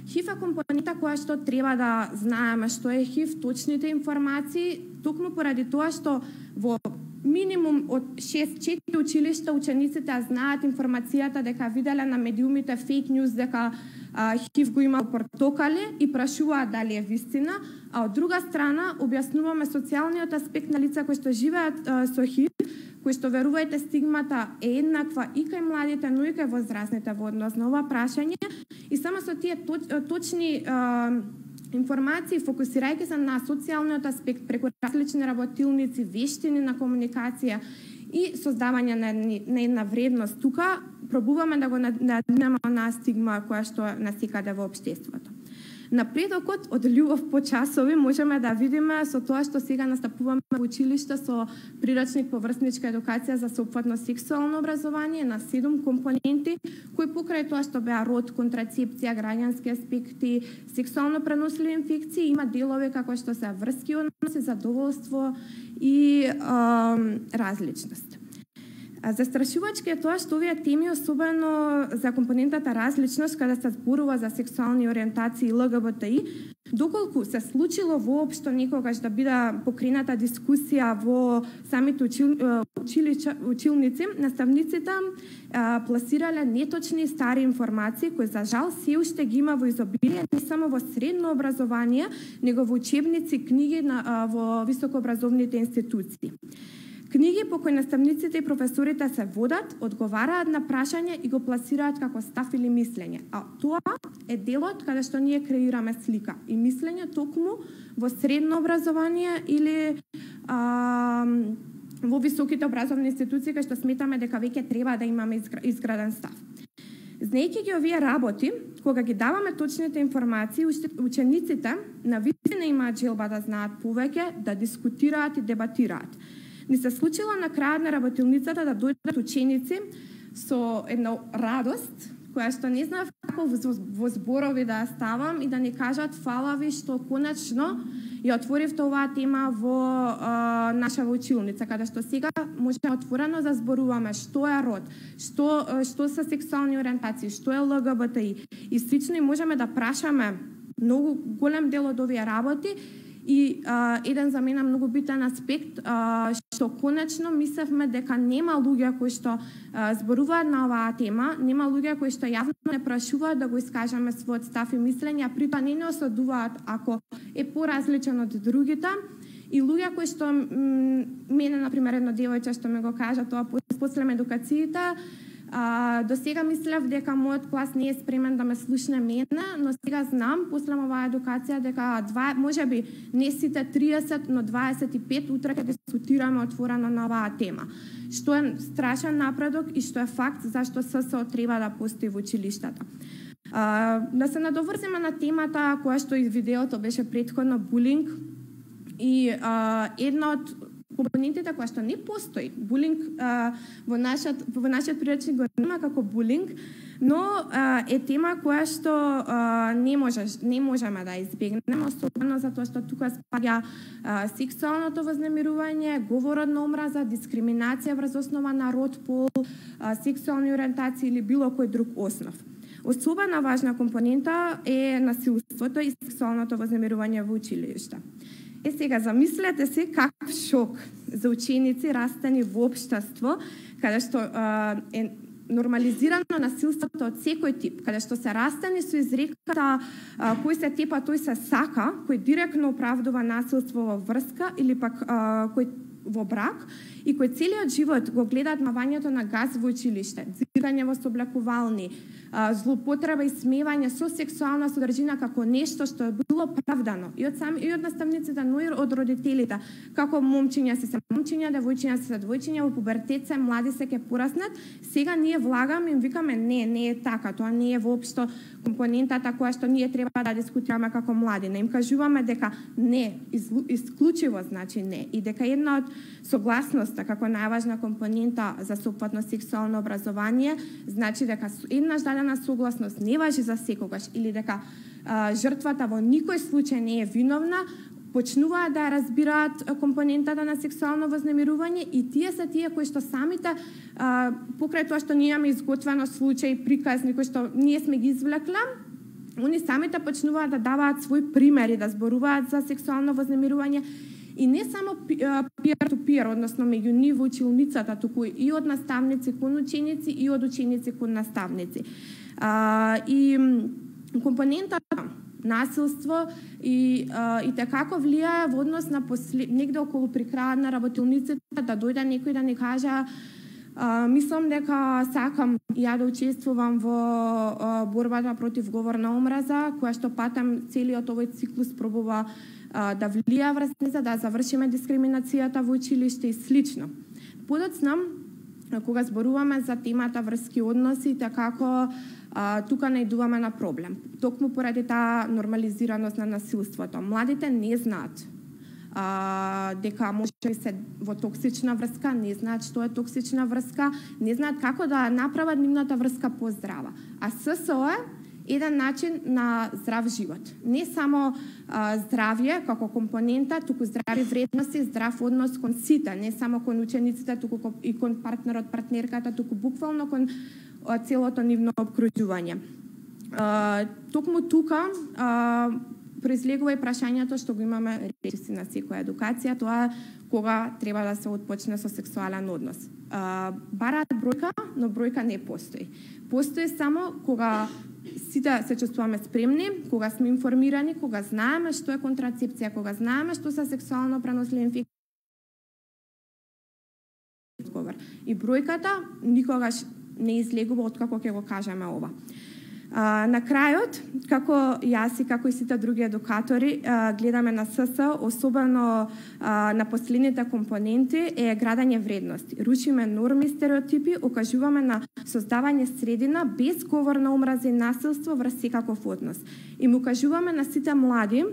ХИВ е компонента која што треба да знаеме што е ХИВ, точните информации, токму поради тоа што во минимум од шест-четири училишта учениците знаат информацијата дека виделе на медиумите фейк ньюс дека а, ХИВ го има портокали и прашуваат дали е вистина, а од друга страна објаснуваме социјалниот аспект на лица кои што живеат а, со ХИВ, кои што верувајте стигмата е еднаква и кај младите, но и кај возрастните во однос на ова прашање, и само со тие точни а, информации, фокусирајќи се на социјалниот аспект преку различни работилници, вештини на комуникација и создавање на, на една вредност тука, пробуваме да го надминеме на стигма која што е насекаде во општеството. Напредокот од љубов по часови можеме да видиме со тоа што сега настапуваме во училиште со прирачник по врсничка едукација за сеопфатно сексуално образование на седум компоненти, кои покрај тоа што беа род, контрацепција, граѓански аспекти, сексуално преносливи инфекции, има делови како што се врски односи, задоволство и а, различност. Застрашувачки е тоа што овие теми, особено за компонентата различност, каде се зборува за сексуални ориентации и ЛГБТИ, доколку се случило воопшто некогаш да биде покрената дискусија во самите учил, училича, училници, наставниците а, пласирале неточни стари информации кои за жал се уште ги има во изобилие не само во средно образование, него во учебници, книги на, а, во високообразовните институции. Книги по кои наставниците и професорите се водат, одговараат на прашање и го пласираат како став или мислење. А тоа е делот каде што ние креираме слика и мислење токму во средно образование или а, во високите образовни институции, кај што сметаме дека веќе треба да имаме изграден став. Знаејќи ги овие работи, кога ги даваме точните информации, учениците навистина имаат желба да знаат повеќе, да дискутираат и дебатираат. Ни се случило на крајот на работилницата да дојдат ученици со една радост, која што не знав како во зборови да ја ставам и да ни кажат фала ви што конечно ја отворивте оваа тема во а, наша училница, каде што сега може отворено да зборуваме што е род, што, што се сексуални ориентации, што е ЛГБТИ и слично, и можеме да прашаме многу голем дел од овие работи. И а, еден за мене многу битен аспект, а, што конечно мислевме дека нема луѓе кои што а, зборуваат на оваа тема, нема луѓе кои што јавно не прашуваат да го искажеме својот став и мислење, а при тоа не не осудуваат ако е поразличен од другите. И луѓе кои што мене, например, едно девојче што ме го кажа тоа после едукацијата, А, до сега мислев дека мојот клас не е спремен да ме слушне мене, но сега знам, после оваа едукација, дека два, може би не сите триесет, но дваесет и пет утре ќе дискутираме отворено на оваа тема. Што е страшен напредок и што е факт зашто ССО треба да постои во училиштата. А, да се надоврзиме на темата која што и видеото беше претходно, булинг, и а, една од компонентите која што не постои. Булинг а, во нашиот во нашиот приречник го нема како булинг, но а, е тема која што а, не можеш не можеме да избегнеме, особено затоа што тука спаѓа а, сексуалното вознемирување, говорот на омраза, дискриминација врз основа на род, пол, а, сексуални ориентации или било кој друг основ. Особена важна компонента е насилството и сексуалното вознемирување во училиште. Е сега, замислете се каков шок за ученици растени во општество, каде што а, е нормализирано насилството од секој тип, каде што се растени со изреката а, кој се тепа, тој се сака, кој директно оправдува насилство во врска или пак а, кој во брак и кој целиот живот го гледаат мавањето на газ во училиште, дзирање во соблекувални, злоупотреба и смевање со сексуална содржина како нешто што е било правдано и од сами и од наставниците, но и од родителите, како момчиња се се момчиња, девојчиња се се девојчиња, во пубертет се млади се ќе пораснат. Сега ние влагаме и им викаме не, не е така, тоа не е воопшто компонентата која што ние треба да дискутираме како млади. Не им кажуваме дека не, исклучиво значи не и дека една од согласност мудроста како најважна компонента за сопатно сексуално образование, значи дека еднаш дадена согласност не важи за секогаш или дека а, жртвата во никој случај не е виновна, почнуваат да разбираат компонентата на сексуално вознемирување и тие се тие кои што самите а, покрај тоа што ние имаме изготвено случај, приказни кои што ние сме ги извлекле, они самите почнуваат да даваат свој примери, да зборуваат за сексуално вознемирување и не само peer-to-peer, односно меѓу нив во училницата, туку и од наставници кон ученици и од ученици кон наставници. А, и компонентата насилство и а, и како влијае во однос на после... негде околу при крајот на работилниците да дојде некој да ни каже а, мислам дека сакам ја да учествувам во а, борбата против говор на омраза, која што патам целиот овој циклус пробува а, да влијае врз неа, да завршиме дискриминацијата во училиште и слично. Подоцна, кога зборуваме за темата врски односи, како а, тука најдуваме на проблем. Токму поради таа нормализираност на насилството. Младите не знаат а, дека може да се во токсична врска, не знаат што е токсична врска, не знаат како да направат нивната врска поздрава. А ССО е еден начин на здрав живот. Не само а, здравје како компонента, туку здрави вредности, здрав однос кон сите, не само кон учениците, туку и кон партнерот, партнерката, туку буквално кон а, целото нивно обкружување. А, токму тука а, произлегува и прашањето што го имаме речиси на секоја едукација, тоа кога треба да се отпочне со сексуален однос. А, бараат бројка, но бројка не постои. Постои само кога сите се чувствуваме спремни, кога сме информирани, кога знаеме што е контрацепција, кога знаеме што се сексуално преносливи инфекции. И бројката никогаш не излегува откако ќе го кажеме ова. А, на крајот, како јас и како и сите други едукатори, а, гледаме на СС, особено а, на последните компоненти, е градење вредности. Рушиме норми, стереотипи, окажуваме на создавање средина без говор на омраза и насилство врз секаков однос. И му кажуваме на сите млади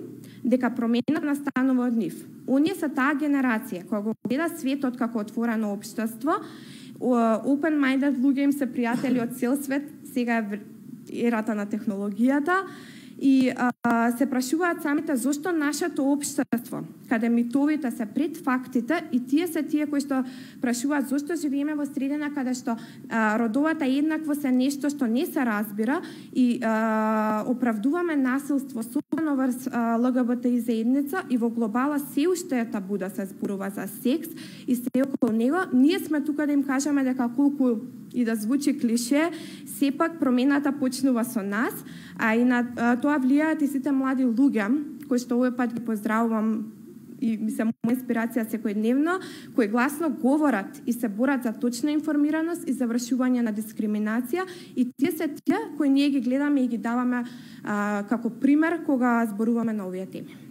дека промената настанува од нив. Оние се таа генерација која го гледа светот како отворено општество, open-minded луѓе им се пријатели од цел свет, сега е ерата на технологијата и а, се прашуваат самите зошто нашето општество, каде митовите се пред фактите и тие се тие кои што прашуваат зошто живееме во средина каде што а, родовата еднаквост е нешто што не се разбира и а, оправдуваме насилство особено врз ЛГБТИ заедница и во глобала се уште е табу да се зборува за секс и се околу него. Ние сме тука да им кажеме дека колку и да звучи клише, сепак промената почнува со нас, а и на а, тоа влијаат и сите млади луѓе, кои што овој пат ги поздравувам и ми се моја инспирација секојдневно, кои гласно говорат и се борат за точна информираност и завршување на дискриминација и тие се тие кои ние ги гледаме и ги даваме а, како пример кога зборуваме на овие теми.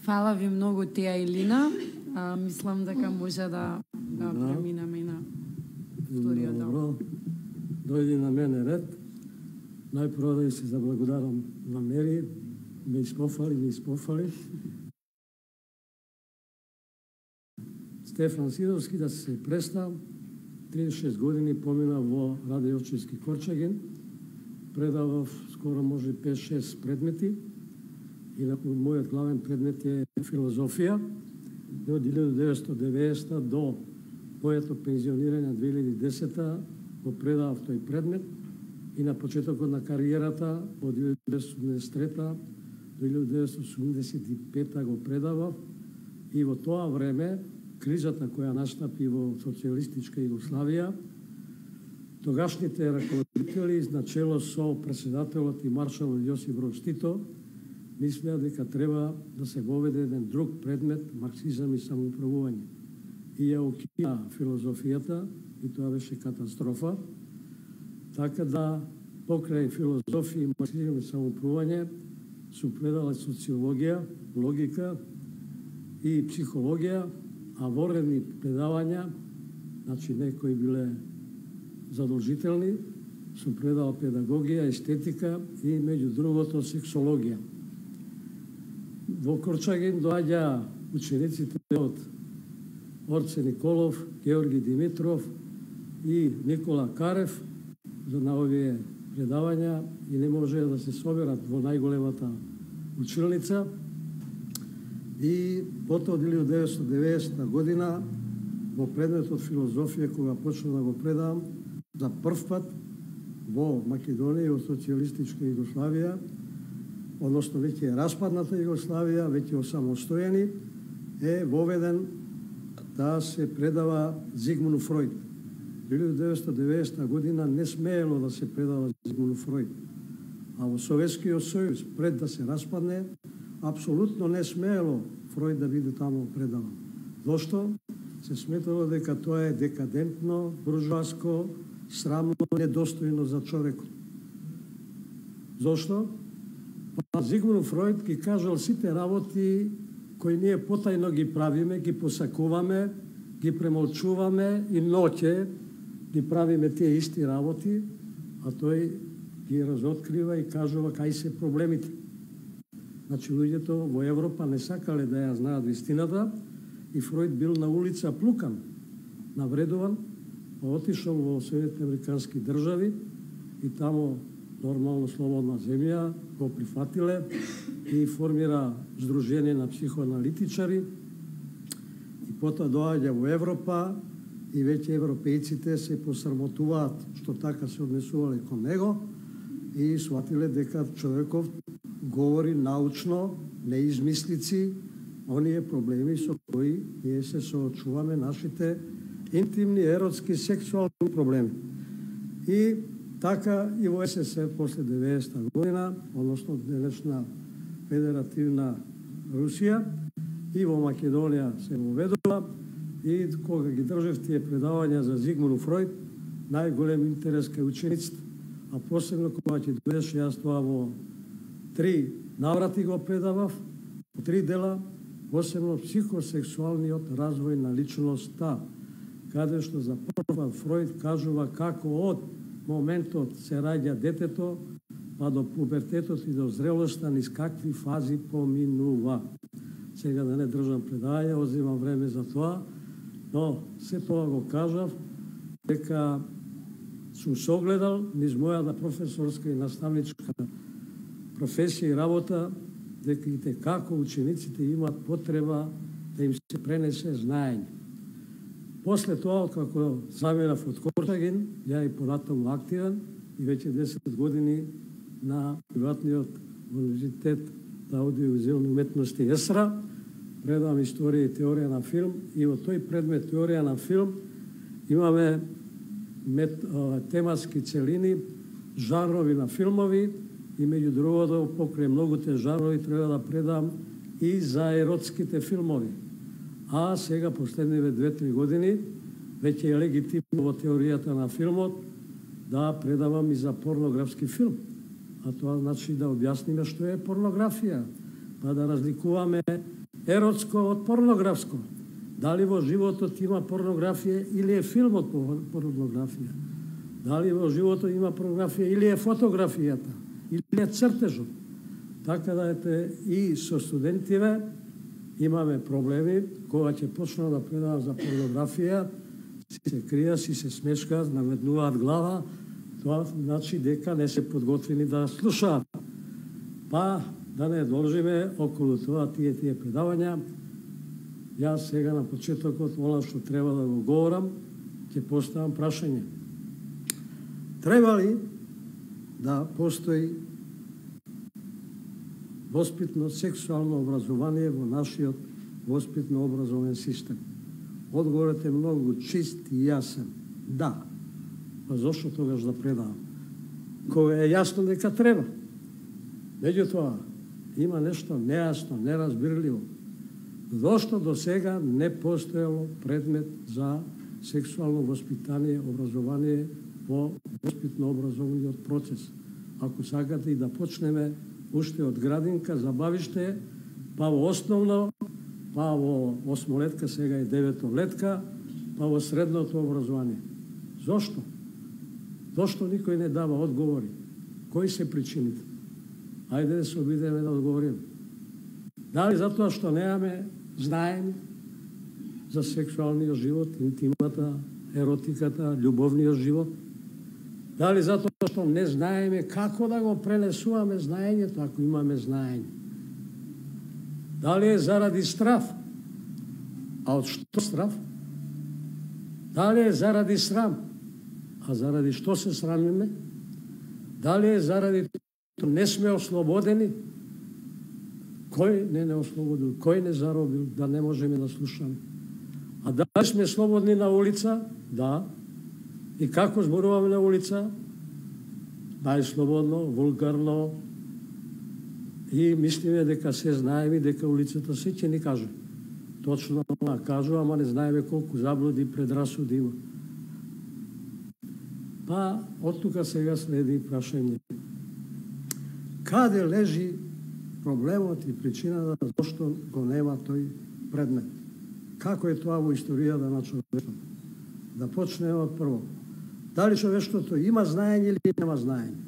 Фала ви многу, Теја и Лина. А, мислам дека може да, да преминеме на вториот дел. Добро, дојди на мене ред. Најпрво да се заблагодарам на Мери, ме испофали, ме испофали. Стефан Сидовски, да се представ, триесет и шест години помина во Раде Јовчевски Корчагин, предавав скоро може пет-шест предмети, и мојот главен предмет е филозофија. И од илјадум деветстотини и деветдесета до моето пензионирање две илјади и десета го предавав тој предмет и на почетокот на кариерата од илјадум деветстотини и осумдесет и трета до илјадум деветстотини и осумдесет и пета го предавав и во тоа време кризата која настапи во социјалистичка Југославија, тогашните раководители начело со председателот и маршалот Јосип Броз Тито мислеа дека треба да се воведе еден друг предмет, марксизам и самоуправување. И ја укина филозофијата, и тоа беше катастрофа. Така да, покрај филозофија, марксизам и самоуправување, сум предала социологија, логика и психологија, а воредни предавања, значи некои биле задолжителни, сум предал педагогија, естетика и меѓу другото сексологија. Во Корчагин доаѓа учениците од Орце Николов, Георги Димитров и Никола Карев за на овие предавања и не може да се соберат во најголемата училница. И потоа од илјадесетстотини и деветдесета година во предметот филозофија, кога почнав да го предавам за прв пат во Македонија и во социјалистичка Југославија, односно веќе е распадната Југославија, веќе осамостојени, е воведен да се предава Зигмунд Фројд. Во илјадесетстотини и деветдесета година не смеело да се предава Зигмунд Фројд, а во Советскиот сојуз пред да се распадне, апсолутно не смеело Фројд да биде таму предаван. Зошто? Се сметало дека тоа е декадентно, буржуаско, срамно, недостојно за човекот. Зошто? Па Зигмунд Фројд ги кажал сите работи кои ние потајно ги правиме, ги посакуваме, ги премолчуваме и ноќе ги правиме тие исти работи, а тој ги разоткрива и кажува кај се проблемите. Значи, луѓето во Европа не сакале да ја знаат вистината и Фројд бил на улица плукан, навредуван, па отишол во Соединетите Американски држави и таму нормално слободна земја го прифатиле и формира Сдружение на психоаналитичари и потоа доаѓа во Европа и веќе европејците се посрамотуваат што така се однесувале кон него и сватиле дека човеков говори научно, не измислици, оние проблеми со кои ние се соочуваме, нашите интимни, еротски, сексуални проблеми. И така и во СССР после деветдесета година, односно денешна Федеративна Русија, и во Македонија се воведува, и кога ги држев тие предавања за Зигмунд Фројд, најголем интерес кај учениците, а посебно кога ќе дојдеше, јас тоа во три наврати го предавав, во три дела, посебно психосексуалниот развој на личноста, каде што за прв пат Фројд кажува како од моментот се раѓа детето, па до пубертетот и до зрелоста низ какви фази поминува. Сега да не држам предавање, одземам време за тоа, но се тоа го кажав, дека сум согледал низ мојата професорска и наставничка професија и работа, дека и како учениците имаат потреба да им се пренесе знаење. После тоа, како заминав од Корчагин, ја и понатаму активен и веќе десет години на приватниот универзитет за аудиовизуелни уметности ЕСРА, предавам историја и теорија на филм и во тој предмет теорија на филм имаме мет, а, тематски целини, жанрови на филмови и меѓу другото покрај многуте жанрови треба да предам и за еротските филмови. А сега последниве две-три години веќе е легитимно во теоријата на филмот да предавам и за порнографски филм. А тоа значи да објасниме што е порнографија, па да разликуваме еротско од порнографско. Дали во животот има порнографија или е филмот порнографија? Дали во животот има порнографија или е фотографијата? Или е цртежот? Така да ете и со студентиве имаме проблеми, кога ќе почнам да предавам за порнографија, си се кријат, си се смешкаат, наведнуваат глава, тоа значи дека не се подготвени да слушаат. Па да не должиме околу тоа тие тие предавања. Јас сега на почетокот, она што треба да го говорам, ќе поставам прашање. Треба ли да постои воспитно сексуално образование во нашиот воспитно образовен систем? Одговорот е многу чист и јасен. Да. Па зошто тогаш да предавам? Кога е јасно дека треба. Меѓутоа, има нешто нејасно, неразбирливо. Зошто до сега не постоело предмет за сексуално воспитание, образование во воспитно-образовниот процес? Ако сакате и да почнеме уште од градинка, забавиште, па во основно, па во осмолетка, сега и деветолетка, па во средното образование. Зошто? Зошто никој не дава одговори? Кои се причините? Ајде да се обидеме да одговориме. Дали затоа што немаме знаење за сексуалниот живот, интимата, еротиката, љубовниот живот? Дали затоа што не знаеме како да го пренесуваме знаењето, ако имаме знаење? Дали е заради страв? А од што страв? Дали е заради срам? А заради што се срамиме? Дали е заради што не сме ослободени? Кој не не ослободил? Кој не заробил да не можеме да слушаме? А дали сме слободни на улица? Да. И како зборуваме на улица? Најслободно, вулгарно. И мислиме дека се знаеме, дека улицата се ќе ни каже. Точно кажува, ама не знаеме колку заблуди и предрасуди има. Па, од тука сега следи прашање. Каде лежи проблемот и причината зашто го нема тој предмет? Како е тоа во историјата на човештвото? Да почнеме од прво. Дали човештвото има знаење или нема знаење?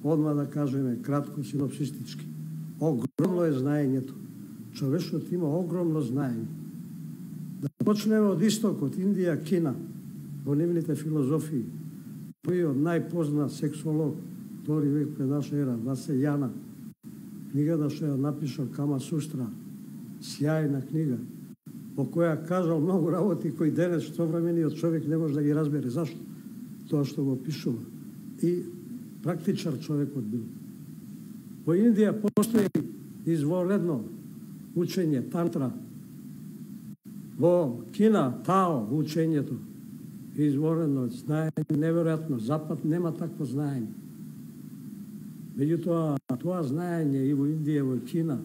Одма да кажеме кратко, синопсистички. Огромно е знаењето. Човештвото има огромно знаење. Да почнеме од истокот, Индија, Кина, во нивните филозофии. Тој најпознат сексолог, втори век пред наша ера, Васејана, книгата што ја напишал Кама Сустра, сјајна книга, во која кажал многу работи кои денес современиот човек не може да ги разбере. Зашто? Тоа што го пишува. И практичар човекот бил. Во Индија постои извонредно учење, тантра. Во Кина, Тао, учењето, извонредно, знаење, неверојатно. Запад нема такво знаење. Меѓутоа, тоа знаење и во Индија, и во Кина,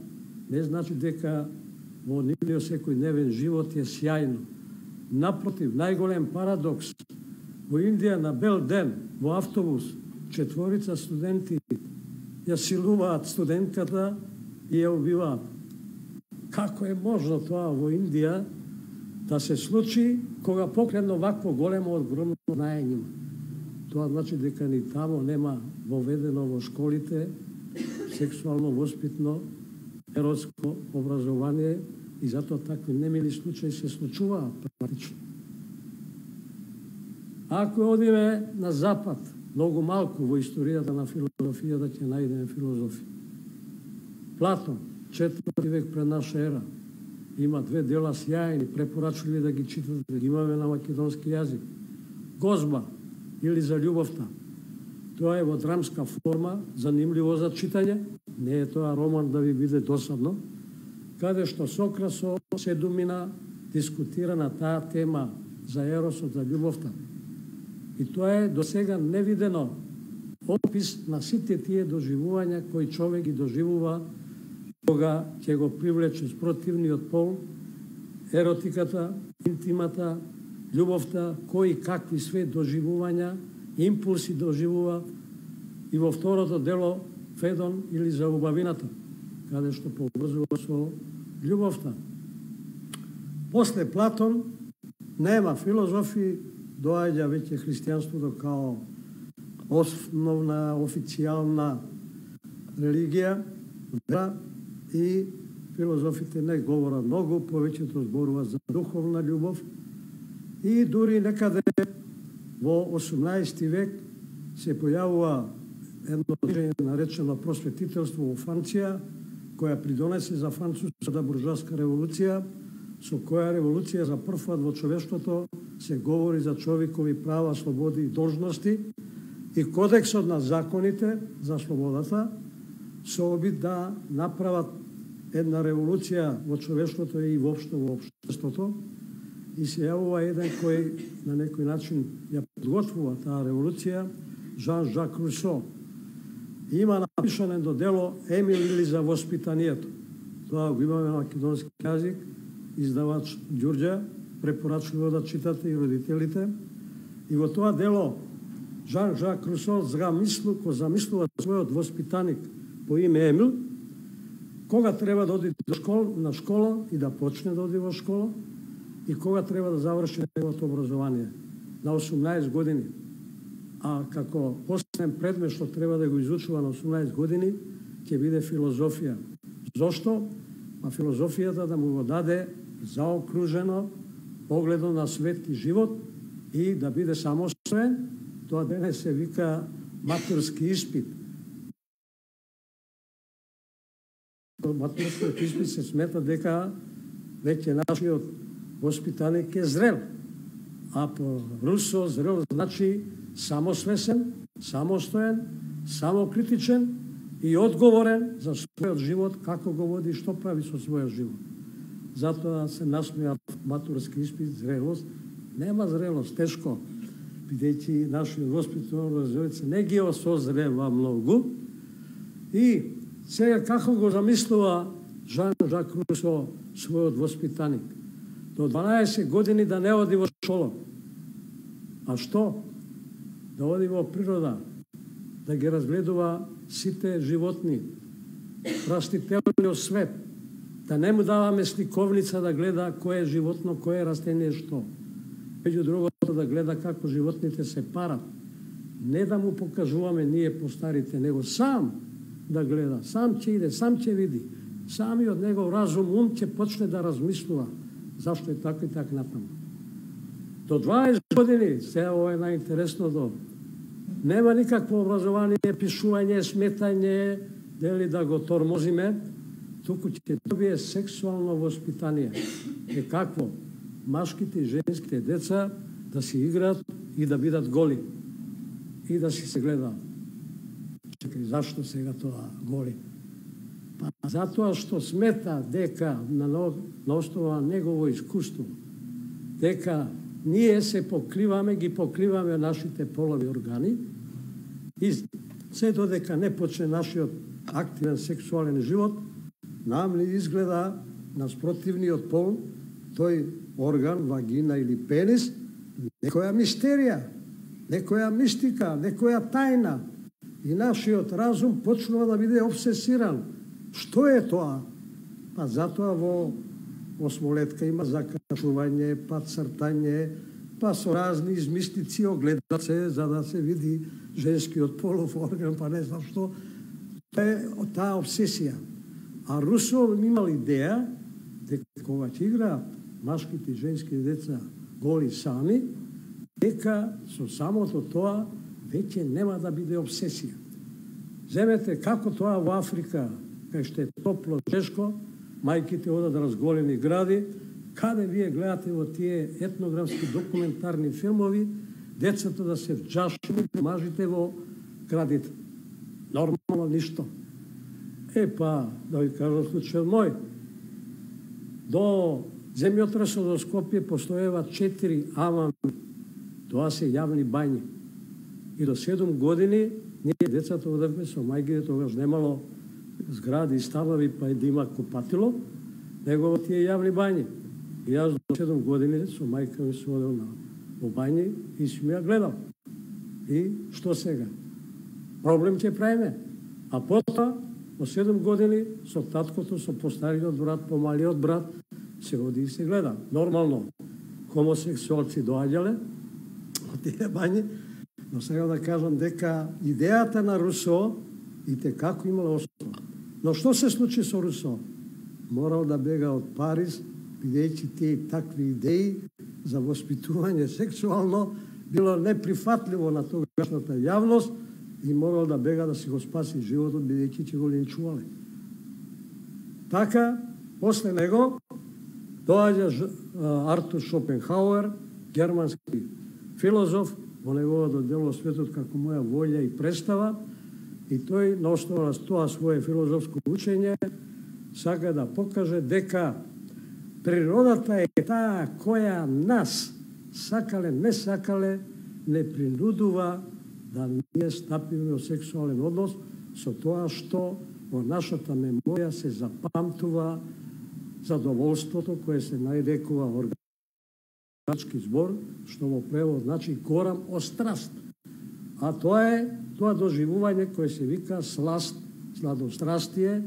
не значи дека во нивниот секојдневен живот е сјајно. Напротив, најголем парадокс, во Индија на бел ден, во автобус, четворица студенти ја силуваат студентката и ја убиваат. Како е можно тоа во Индија да се случи кога покредно вакво големо огромно знаење има? Тоа значи дека ни тамо нема воведено во школите сексуално воспитно еротско образование и затоа такви немили случаи се случуваат практично. Ако одиме на запад, многу малку во историјата на филозофијата ќе најдеме филозофи. Платон, четврти век пред наша ера, има две дела сјајни, препорачливи да ги читате, да ги имаме на македонски јазик. Гозба или за љубовта. Тоа е во драмска форма, занимливо за читање, не е тоа роман да ви биде досадно, каде што Сократ со седумина дискутира на таа тема за еросот, за љубовта. И тоа е до сега невидено опис на сите тие доживувања кои човек ги доживува кога ќе го привлече спротивниот пол, еротиката, интимата, љубовта, кои какви све доживувања, импулси доживува и во второто дело Федон или за убавината, каде што поврзува со љубовта. После Платон нема филозофи, доаѓа веќе христијанството као основна официјална религија, вера, и филозофите не говорат многу, повеќето зборуваат за духовна љубов и дури некаде во осумнаесети век се појавува едно движење наречено просветителство во Франција, која придонесе за француската буржуаска револуција, со која револуција за прв пат во човештвото се говори за човекови права, слободи и должности и кодексот на законите за слободата со обид да направат една револуција во човештвото и воопшто во општеството и се јавува еден кој на некој начин ја подготвува таа револуција, Жан-Жак Русо. Има напишано едно дело Емил или за воспитанието. Тоа го имаме на македонски јазик, издавач Ѓурѓа, препорачливо да читате и родителите. И во тоа дело Жан-Жак Русо замислу, кој замислува својот воспитаник по име Емил, кога треба да оди до школа, на школа и да почне да оди во школа и кога треба да заврши неговото образование. На осумнаесет години. а како основен предмет што треба да го изучува на осумнаесет години ќе биде филозофија. Зошто? А филозофијата да му го даде заокружено погледно на свет и живот и да биде самостоен. Тоа денес се вика матурски испит. Матурскиот испит се смета дека веќе нашиот воспитаник е зрел. А по Русо зрел значи самосвесен, самостоен, самокритичен и одговорен за својот живот, како го води, што прави со својот живот. Затоа се насмеа матурски испит, зрелост. Нема зрелост, тешко, бидејќи нашиот воспитуван образовец не ги осозрeva многу. И сега како го замислува Жан-Жак Русо својот воспитаник? До дванаесет години да не оди во школа. А што? Да оди во природа, да ги разгледува сите животни, растителниот свет, да не му даваме сликовница да гледа кој е животно, кој е растение, што. Меѓу другото да гледа како животните се парат. Не да му покажуваме ние постарите, него сам да гледа, сам ќе иде, сам ќе види. Самиот негов разум, ум ќе почне да размислува зашто е така и така натаму. До дваесет години, сега ова е најинтересното, нема никакво образование, пишување, сметање, дели да го тормозиме, туку ќе добие сексуално воспитание. Е какво? Машките и женските деца да си играат и да бидат голи. И да си се гледаат. Чекај, зашто сега тоа голи? Па затоа што смета дека на, на основа негово искуство, дека ние се покриваме, ги покриваме нашите полови органи и се додека не почне нашиот активен сексуален живот, нам ли изгледа наспротивниот пол, тој орган, вагина или пенис, некоја мистерија, некоја мистика, некоја тајна. И нашиот разум почнува да биде обсесиран. Што е тоа? Па затоа во осмолетка има закачување, па цртање, па со разни измислици огледат се за да се види женскиот полов орган, па не знам што. Тоа е таа обсесија. А Русо имал идеја дека кога ќе играат машките и женските деца голи сами, дека со самото тоа веќе нема да биде обсесија. Земете како тоа во Африка, кај што е топло, тешко, мајките одат разголени гради, каде вие гледате во тие етнографски документарни филмови, децата да се вџашени, мажите во градите. Нормално ништо. Е па, да ви кажам случајот мој, до земјотресот во Скопје постоева четири амами. Тоа се јавни бањи. И до седум години ние децата одевме со мајките, тогаш немало згради и станови, па и да има купатило, него во тие јавни бањи. И јас до седум години со мајка ми се одел на во бањи и си ми ја гледал. И што сега? Проблем ќе правиме. А потоа, во седум години, со таткото, со постариот брат, помалиот брат, се оди и се гледа. Нормално, хомосексуалци доаѓале од тие бањи, но сега да кажам дека идејата на Русо и те како имала основа. Но што се случи со Русо? Морал да бега од Париз, бидејќи тие такви идеи за воспитување сексуално било неприфатливо на тогашната јавност и морал да бега да си го спаси животот, бидејќи ќе го линчувале. Така, после него, доаѓа Артур Шопенхауер, германски филозоф, во неговото дело Светот како моја волја и представа, и тој на основа на тоа свое филозофско учење сака да покаже дека природата е таа која нас, сакале, не сакале, не принудува да ние стапиме во сексуален однос со тоа што во нашата меморија се запамтува задоволството кое се најрекува органички збор, што во превод значи корам од страст. А тоа е тоа доживување кое се вика сласт, сладострастие,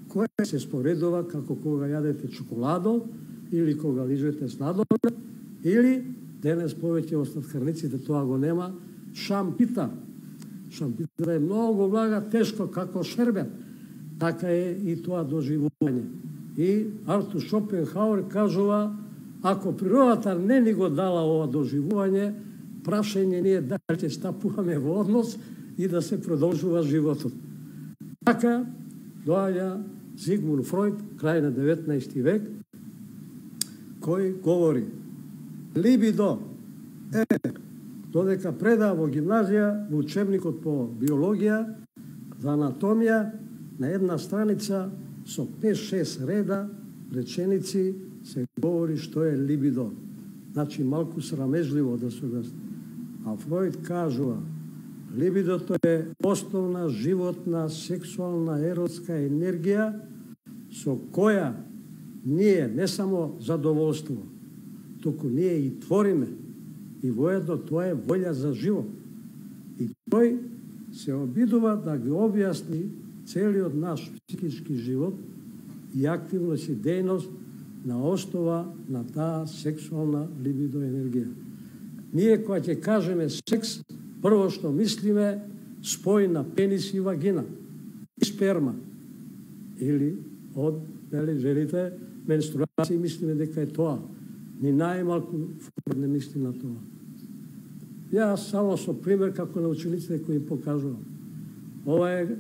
кое се споредува како кога јадете чоколадо или кога лижете сладолед, или денес повеќе од сладкарниците тоа го нема, шампита. Шампита е многу влага, тешко како шербет. Така е и тоа доживување. И Артур Шопенхауер кажува, ако природата не ни го дала ова доживување, прашање ни е дали ќе стапуваме во однос и да се продолжува животот. Така доаѓа Зигмунд Фройд, крај на деветнаести век, кој говори: либидо е, додека предава во гимназија, во учебникот по биологија, за анатомија, на една страница со пет-шест реда реченици се говори што е либидо. Значи малку срамежливо да се објасни. А Фройд кажува: либидото е основна животна сексуална еротска енергија со која ние не само задоволство, туку ние и твориме, и воедно тоа е волја за живот. И тој се обидува да ги објасни целиот наш психички живот и активност и дејност на основа на таа сексуална либидо енергија. Ние кога ќе кажеме секс, прво што мислиме спој на пенис и вагина и сперма. Или од дали жените менструации мислиме дека е тоа. Ни најмалку не мисли на тоа. Јас само со пример како на учениците кои им покажувам. Ова е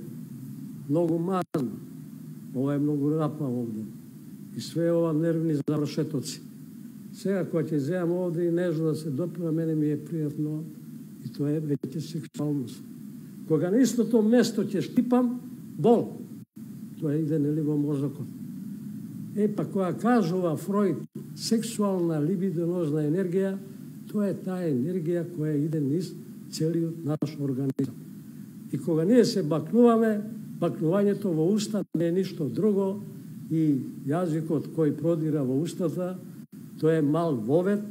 многу мазно, ова е многу рапа овде. И све ова нервни завршетоци. Сега кога ќе земам овде и нежно да се допира, мене ми е пријатно и тоа е веќе сексуалност. Кога на истото место ќе штипам, бол. Тоа иде нели во мозокот. Е, па кога кажува Фройд сексуална либидонозна енергија, тоа е таа енергија која иде низ целиот наш организам. И кога ние се бакнуваме, бакнувањето во уста не е ништо друго и јазикот кој продира во устата, тоа е мал вовед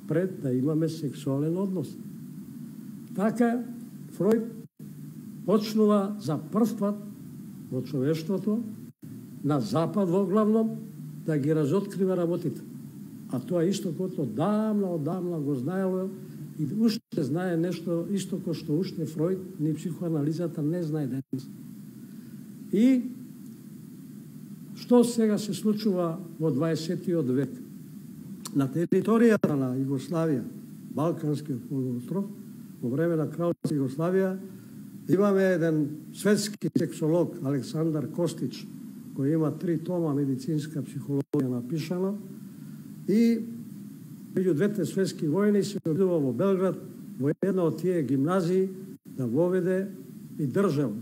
пред да имаме сексуален однос. Така Фройд почнува за прв пат во човештвото, на запад во главном, да ги разоткрива работите. А тоа исто кото одамна, одамна го знаело и уште знае нешто исто ко што уште Фройд, ни психоанализата не знае денес. И што сега се случува во дваесеттиот век? На територијата на Југославија, Балканскиот полуостров, во време на Кралска Југославија, имаме еден светски сексолог, Александар Костич, кој има три тома медицинска психологија напишана, и меѓу двете светски војни се обидува во Белград, во една од тие гимназии, да воведе и држал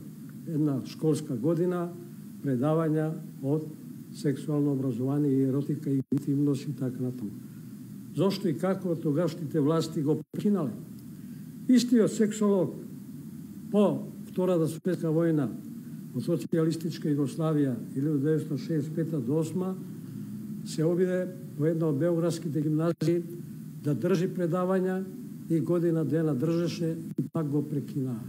една школска година предавања од сексуално образование и еротика и интимност и така натаму. Зошто и како тогашните власти го прекинале? Истиот сексолог по Втората светска војна во социјалистичка Југославија илјадесетстотини деветстотини шеесет и пета до осма се обиде во една од београдските гимназии да држи предавања и година дена држеше и пак го прекинаа.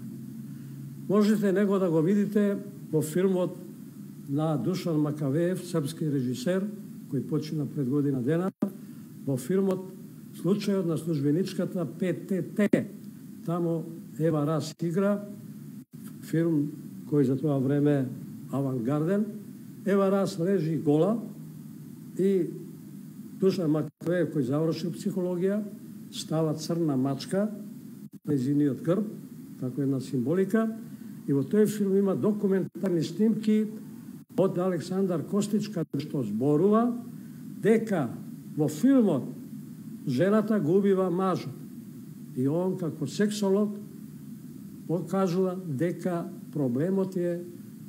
Можете него да го видите во филмот на Душан Макавеев, српски режисер, кој почина пред година дена, во филмот Случајот на службеничката Пе Те Те. Тамо Ева Рас игра, филм кој за тоа време авангарден. Ева Рас лежи гола и Душан Макавеев, кој завршил психологија, става црна мачка на нејзиниот грб, како една символика. И во тој филм има документарни снимки од Александар Костич, каде што зборува дека во филмот жената го убива мажот. И он како сексолог покажува дека проблемот е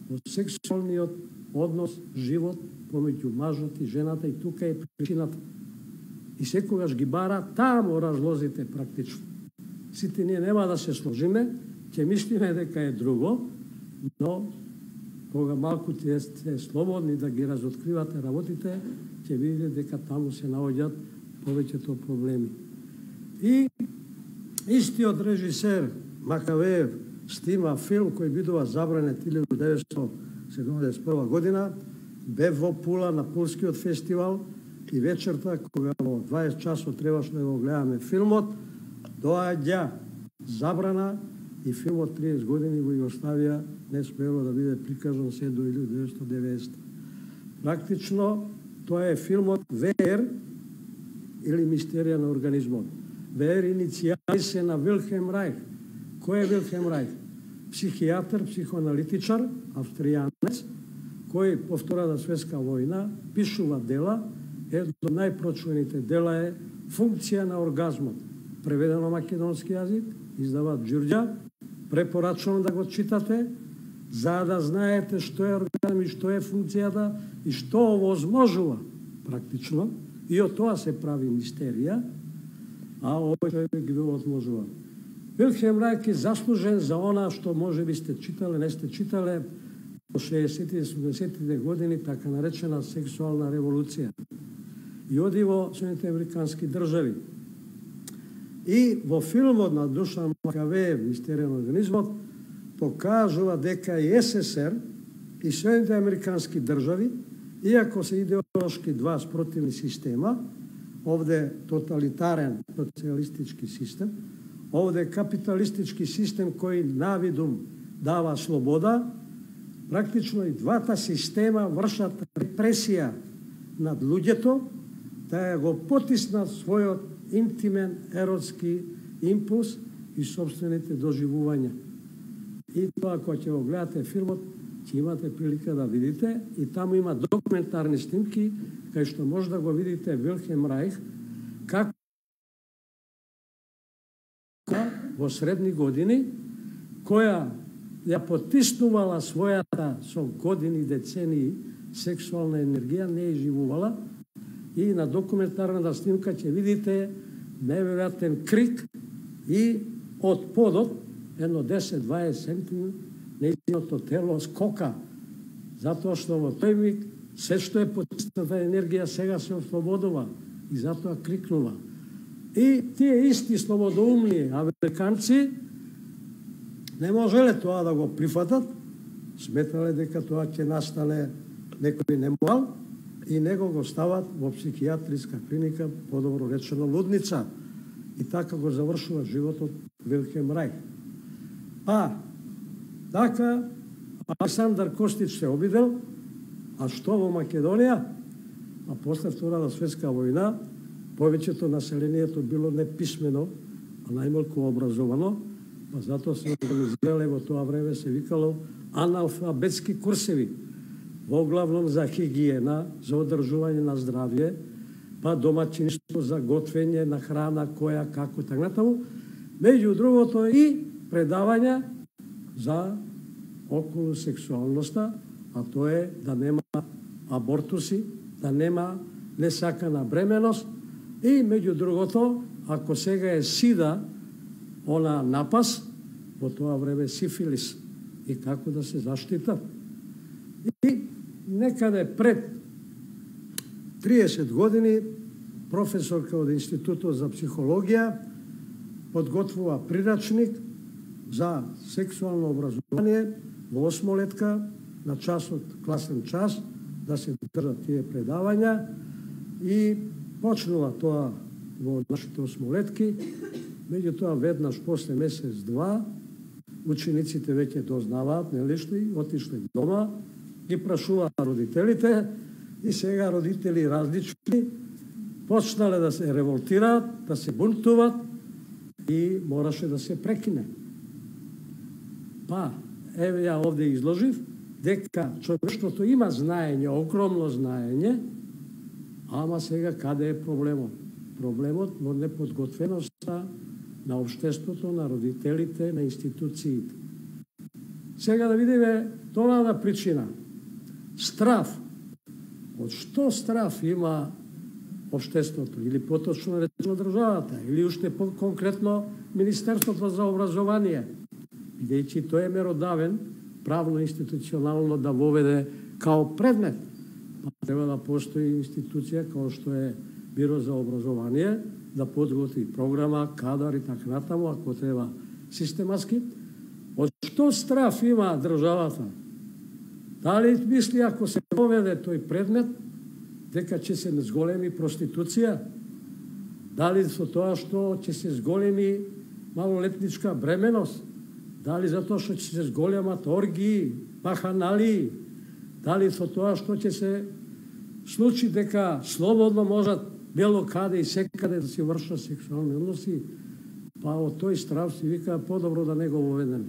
во сексуалниот однос, живот помеѓу мажот и жената, и тука е причината. И секогаш ги бара таму разлозите практично. Сите ние нема да се сложиме, ќе мислиме дека е друго, но кога малку ќе сте слободни да ги разоткривате работите, ќе видите дека таму се наоѓаат повеќето проблеми. И истиот режисер Макавеев снима филм кој бидува забранет илјада деветстотини седумдесет и прва година, бе во Пула на Пулскиот фестивал и вечерта, кога во дваесет часот требаше да го гледаме филмот, доаѓа забрана и филмот триесет години во Југославија не смело да биде прикажан се до илјада деветстотини и деветдесета. Практично, тоа е филмот В Р или Мистерија на организмот. В Р иницијали се на Вилхелм Рајх. Кој е Вилхелм Рајх? Психијатар, психоаналитичар, австријанец, кој по Втората светска војна пишува дела. Едно од најпрочуваните дела е Функција на оргазмот. Преведено на македонски јазик, издава Ѓурѓа. Препорачувам да го читате, за да знаете што е оргазм и што е функцијата и што овозможува практично. И од тоа се прави мистерија, а овој ги го отможува. Вилхелм Рајх е заслужен за она што може би сте читале, не сте читале во шеесеттите и седумдесеттите години, така наречена сексуална револуција. И оди во Соединетите американски држави. И во филмот на Душан Макавеев, Мистерија на организмот, покажува дека и С С Р и Соединетите американски држави, иако се идеолошки два спротивни система, овде тоталитарен социјалистички систем, овде капиталистички систем кој навидум дава слобода, практично и двата система вршат репресија над луѓето, да го потиснат својот интимен еротски импулс и собствените доживувања. И тоа, кога ќе го гледате филмот, ќе имате прилика да видите, и таму има документарни снимки, кај што може да го видите Вилхелм Рајх, како во средни години, која ја потиснувала својата со години, децении, сексуална енергија, не ја живувала, и на документарната снимка ќе видите неверојатен крик и од подот, едно десет-дваесет сантиметри, нејзиното тело скока, затоа што во тој миг се што е потисната енергија сега се ослободува и затоа крикнува. И тие исти слободоумни американци не можеле тоа да го прифатат, сметале дека тоа ќе настане некој неморал и него го стават во психијатриска клиника, подобро речено лудница. И така го завршува животот Вилхелм Рајх. А, така, Александар Костич се обидел, а што во Македонија? А после Втората светска војна, повеќето населението било неписмено, а најмалку образовано, па затоа се организирале во тоа време, се викало аналфабетски курсеви, во главном за хигиена, за одржување на здравје, па домаќинство за готвење на храна, која, како, така натаму. Меѓу другото и предавања за околу сексуалноста, а тоа е да нема абортуси, да нема несакана бременост и меѓу другото, ако сега е сида, она напас, во тоа време сифилис и како да се заштита. И некаде пред триесет години професорка од Институтот за психологија подготвува прирачник за сексуално образование во осмолетка на часот, класен час, да се држат тие предавања и почнува тоа во нашите осмолетки. Меѓутоа, веднаш после месец-два, учениците веќе дознаваат, нели што, отишле дома, ги прашуваат родителите и сега родители различни почнале да се револтираат, да се бунтуваат и мораше да се прекине. Па, еве ја овде изложив, дека човештвото има знаење, огромно знаење, ама сега каде е проблемот? Проблемот во неподготвеноста на општеството, на родителите, на институциите. Сега да видиме тоа причина. Страв. Од што страв има општеството, или поточно речено државата, или уште по-конкретно Министерството за образование, бидејќи тој е меродавен правно-институционално да воведе као предмет. Треба да постои институција као што е Биро за образование, да подготви програма, кадар и така натаму, ако треба систематски. Од што страв има државата? Дали мисли ако се воведе тој предмет, дека ќе се зголеми проституција? Дали со тоа што ќе се зголеми малолетничка бременост, дали затоа што ќе се зголемат оргии, баханали, дали со тоа што ќе се случи дека слободно можат бело каде и секаде да си вршат сексуални односи, па од тој страв си вика подобро да не го воведеме.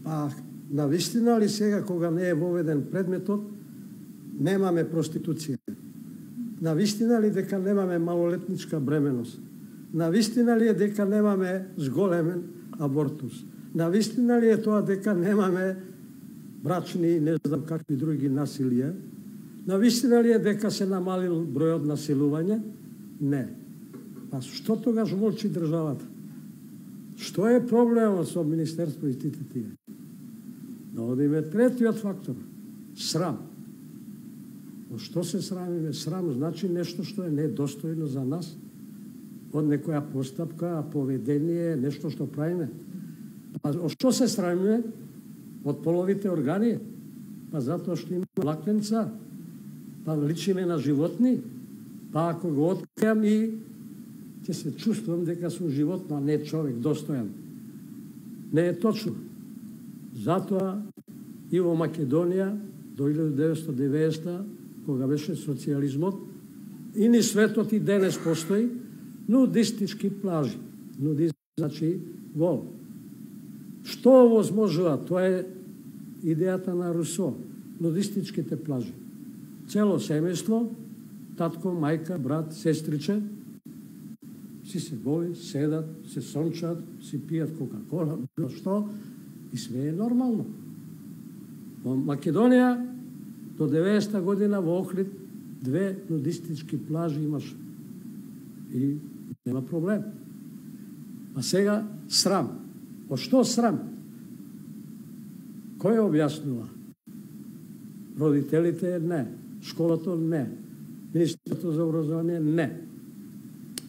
Па навистина ли сега кога не е воведен предметот, немаме проституција? Навистина ли дека немаме малолетничка бременост? Навистина ли е дека немаме зголемен абортус? Навистина ли е тоа дека немаме брачни, не знам какви други насилија? Навистина ли е дека се намалил бројот насилување? Не. Па што тогаш молчи државата? Што е проблемот со Министерство и сите тие? Да одиме третиот фактор. Срам. Но што се срамиме? Срам значи нешто што е недостојно за нас. Од некоја постапка, поведение, нешто што правиме. А од што се срамиме? Од половите органи. Па затоа што има лакленца. Па личиме на животни. Па ако го откриам и ќе се чувствувам дека сум животно, а не човек достојан. Не е точно. Затоа и во Македонија до илјада деветстотини и деветдесета, кога беше социјализмот, и ни светот и денес постои нудистички плажи. Нудизм значи гол. Што овозможува? Тоа е идејата на Русо. Нудистичките плажи. Цело семејство, татко, мајка, брат, сестриче, си се голи, седат, се сончат, си пијат кока-кола, било што, и све е нормално. Во Македонија до деветдесета година во Охрид две нудистички плажи имаш и нема проблем. А сега срам. Од што срам? Кој објаснува? Родителите не, школото не, Министерството за образование не.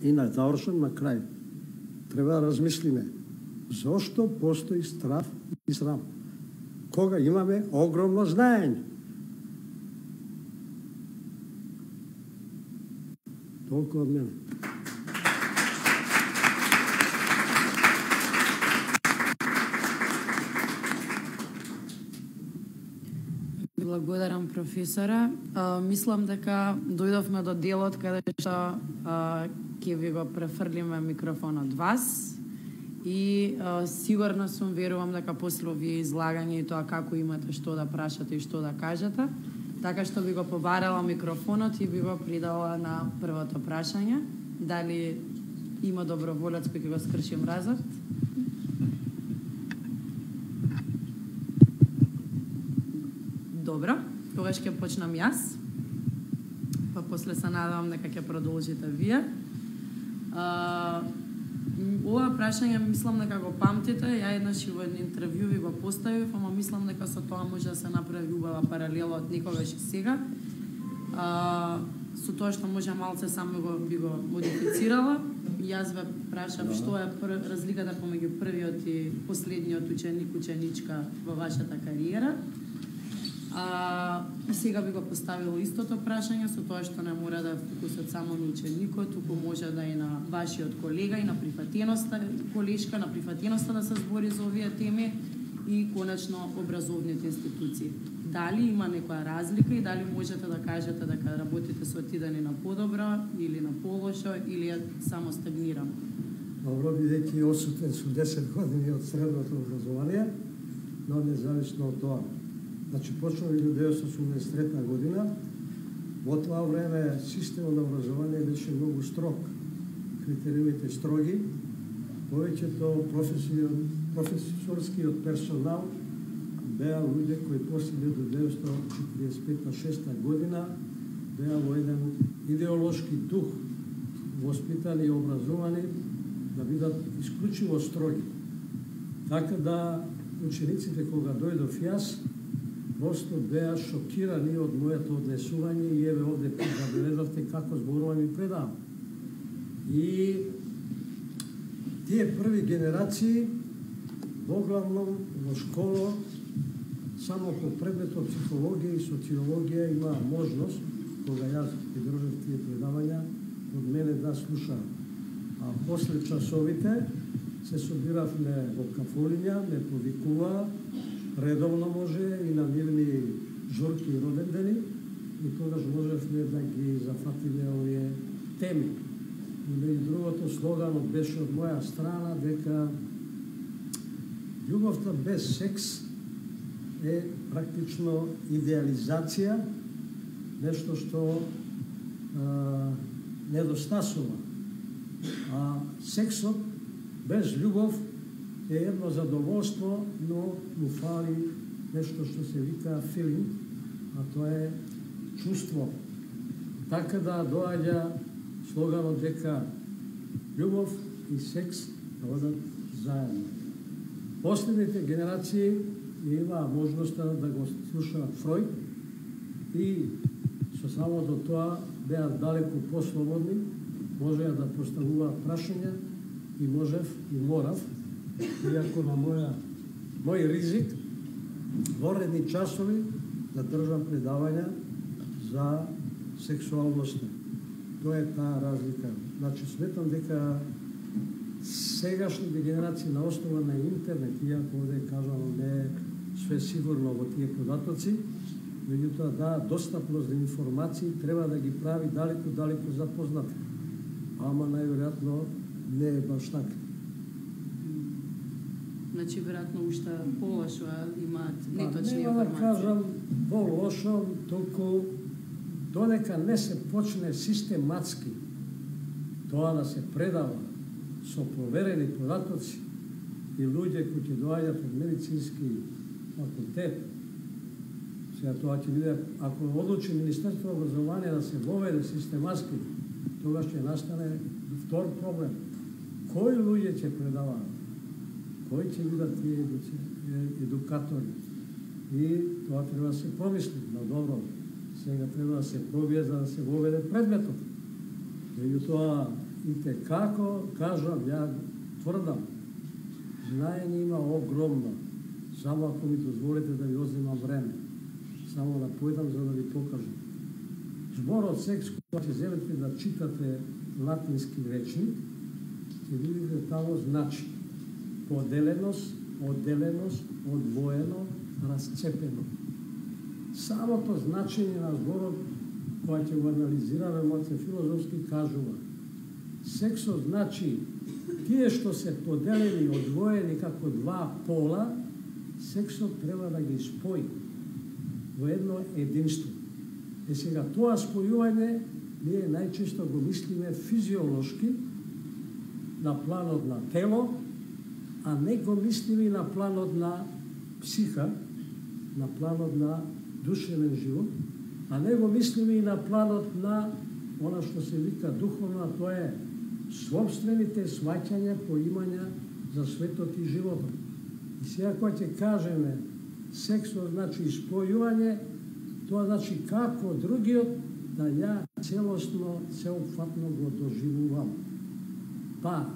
И на завршен на крај. Треба да размислиме зошто постои страв и срам. Кога имаме огромно знаење. Толку од мене. Благодарам, професора. А, мислам дека дојдовме до делот каде што ќе ви го префрлиме микрофонот вас и а, сигурно сум, верувам дека после овие излагање и тоа како имате што да прашате и што да кажете, така што би го побарала микрофонот и би го придала на првото прашање. Дали има доброволец кој ќе го скрши мразот? Добро, тогаш ќе почнам јас, па после се надевам дека ќе продолжите вие. А, ова прашање мислам дека го памтите, ја еднаш и во едно интервју ви го поставив, ама мислам дека со тоа може да се направи убава паралела од некогаш и сега. А, со тоа што може малце само го би го модифицирала. Јас ве прашав што е разликата помеѓу првиот и последниот ученик, ученичка во вашата кариера. А, и сега би го поставила истото прашање со тоа што не мора да фокусот само на ученикот, туку може да и на вашиот колега и на прифатеноста, колешка, на прифатеноста да се збори за овие теми и конечно образовните институции. Дали има некоја разлика и дали можете да кажете дека работите со отидење на подобро или на полошо или е само стагнирано? Добро, бидејќи осутен со десет години од средното образование, но независно од тоа. Значи, почнав илјада деветстотини осумдесет и трета година. Во тоа време системот на образование беше многу строг. Критериумите строги. Повеќето професорскиот персонал беа луѓе кои после илјада деветстотини четиридесет и пета шеста година беа во еден идеолошки дух воспитани и образовани да бидат исклучиво строги. Така да учениците кога дојдов јас, просто беа шокирани од моето однесување и еве овде забележавте како зборувам и предавам. И тие први генерации воглавном во школа само по предметот психологија и социологија имаа можност, кога јас ги држав тие предавања, од мене да слушаат. А после часовите се собиравме во кафулиња, ме повикува, редовно може и на нивни журки и родендени, и тогаш можевме да ги зафатиме овие теми. И меѓу другото слоганот беше од моја страна дека љубовта без секс е практично идеализација, нешто што а, недостасува. А сексот без љубов е едно задоволство, но му фали нешто што се вика филинг, а тоа е чувство. Така да доаѓа слоганот дека љубов и секс да одат заедно. Последните генерации имаа можноста да го слушаат Фројд и со самото тоа беа далеку послободни, можеа да поставуваат прашања и можев и морав, иако на моја, мој ризик, во редни часови да држам предавања за сексуалноста. Тоа е таа разлика. Значи, сметам дека сегашните генерации на основа на интернет, иако овде кажано не е све сигурно во тие податоци, меѓутоа да, достапност до информации треба да ги прави далеку-далеку запознати. Ама најверојатно не е баш така. Значи, веројатно уште полошо имаат неточни информации. Нема да кажам полошо, толку додека не се почне систематски тоа да се предава со проверени податоци и луѓе кои ќе доаѓаат од медицински факултет. Сега тоа ќе биде, ако одлучи Министерството на образование да се воведе систематски, тогаш ќе настане втор проблем. Кои луѓе ќе предаваат? Кои ќе бидат тие едукатори? И тоа треба да се промисли на добро. Сега треба да се пробие за да се воведе предметот. Меѓутоа, и те како, кажам, ја тврдам, знаење има огромно. Само ако ми дозволите да ви одземам време. Само да појдам за да ви покажам. Зборот секс, кога ќе земете да читате латински речник, ќе видите тамо значи поделеност, одделеност, одвоено, расцепено. Самото значење на зборот, кога ќе го анализираме моце филозофски, кажува сексот значи тие што се поделени, одвоени како два пола, сексот треба да ги спои во едно единство. Е сега тоа спојување ние најчесто го мислиме физиолошки на планот на тело, а не го мислиме на планот на психа, на планот на душевен живот, а не го мислиме и на планот на она што се вика духовно, а тоа е собствените сваќања, поимања за светот и животот. И сега кога ќе кажеме сексот значи спојување, тоа значи како другиот да ја целосно, сеопфатно го доживувам. Па,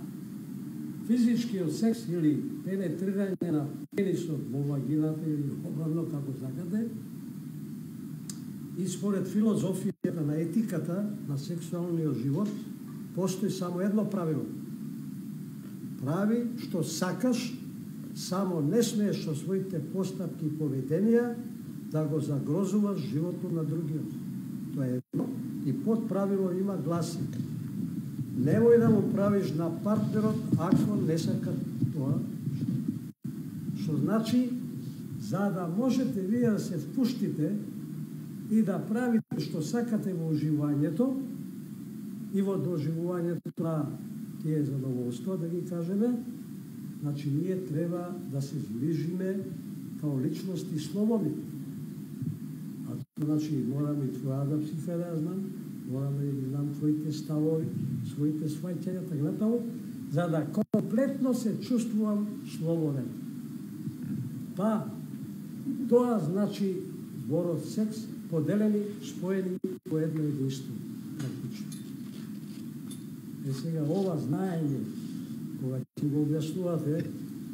физичкиот секс или пенетрирање на пенисот во вагината или обратно како сакате, и според филозофијата на етиката на сексуалниот живот, постои само едно правило. Прави што сакаш, само не смееш со своите постапки и поведенија да го загрозуваш животот на другиот. Тоа е едно. И под правило има гласи: немој да му правиш на партнерот ако не сака тоа. Што значи, за да можете вие да се впуштите и да правите што сакате во уживањето и во доживувањето на тие задоволства, да ги кажеме, значи ние треба да се зближиме као личности слободни. А тоа значи морам и твојата психа да ја знам, морам да ги знам твоите ставови, своите сваќања, така натаму, за да комплетно се чувствувам слободен. Па, тоа значи зборот секс, поделени, споени по едно единство. Практично. Е сега ова знаење, кога ќе го објаснувате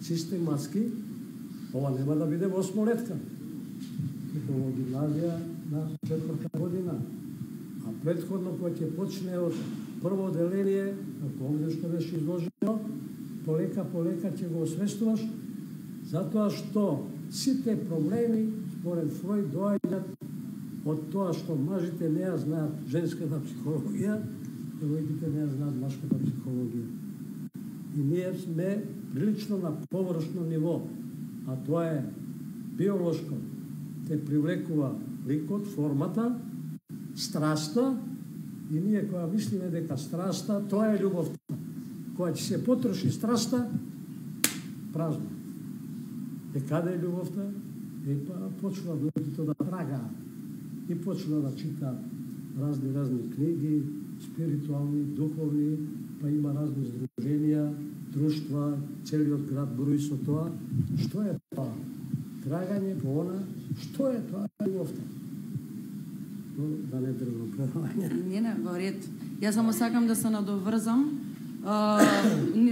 систематски, ова нема да биде во осмолетка, како во гимназија на четврта година, а предходно кога ќе почне од прво деление, како овде што беше изложено, полека, полека ќе го освестуваш, затоа што сите проблеми, според Фројд, доаѓаат од тоа што мажите не ја знаат женската психологија, девојките не ја знаат машката психологија. И ние сме прилично на површно ниво, а тоа е биолошко. Те привлекува ликот, формата, страста, и ние кога мислиме дека страста, тоа е љубовта. Кога ќе се потроши страста, празно. Е каде е љубовта? Е па почва луѓето да трагаат и почва да читаат разни разни книги, спиритуални, духовни, па има разни здруженија, друштва, целиот град брои со тоа. Што е тоа? Трагање по она, што е тоа љубовта? Но да не држам предавање. Не, не, во ред. Јас само сакам да се надоврзам. Uh,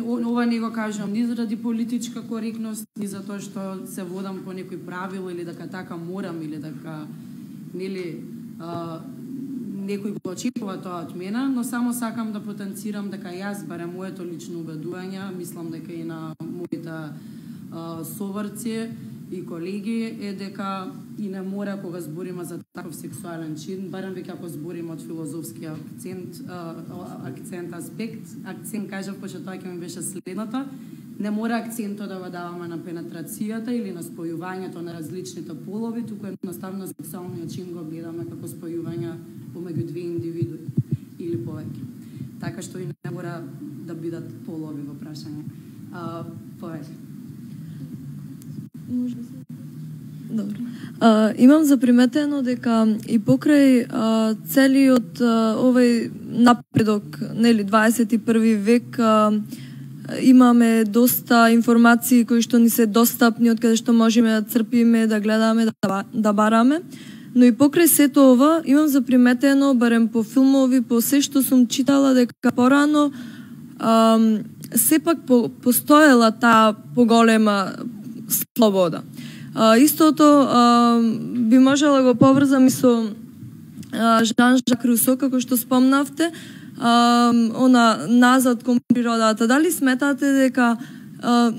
ова не го кажам ни заради политичка коректност, ни за тоа што се водам по некој правил или дека така морам или дека нели uh, некој го очекува тоа од мене, но само сакам да потенцирам дека јас, барем моето лично убедување, мислам дека и на моите uh, соврци и колеги е дека и не мора кога збориме за таков сексуален чин, барем веќе ако збориме од филозофски акцент, акцент аспект, акцент кажав пошто тоа ќе ми беше следното, не мора акцентот да го даваме на пенетрацијата или на спојувањето на различните полови, туку едноставно сексуалниот чин го гледаме како спојување помеѓу две индивидуи или повеќе. Така што и не мора да бидат полови во прашање. А, повеќе. Добро. А, имам заприметено дека и покрај а, целиот а, овој напредок, нели, дваесет и први век, а, имаме доста информации кои што ни се достапни, од каде што можеме да црпиме, да гледаме, да, да бараме. Но и покрај сето ова, имам заприметено, барем по филмови, по се што сум читала, дека порано а, сепак по, постоела таа поголема слобода. А, истото а, би можела го поврзам и со а, Жан-Жак Русо, како што спомнавте, а, она назад кон природата. Дали сметате дека а,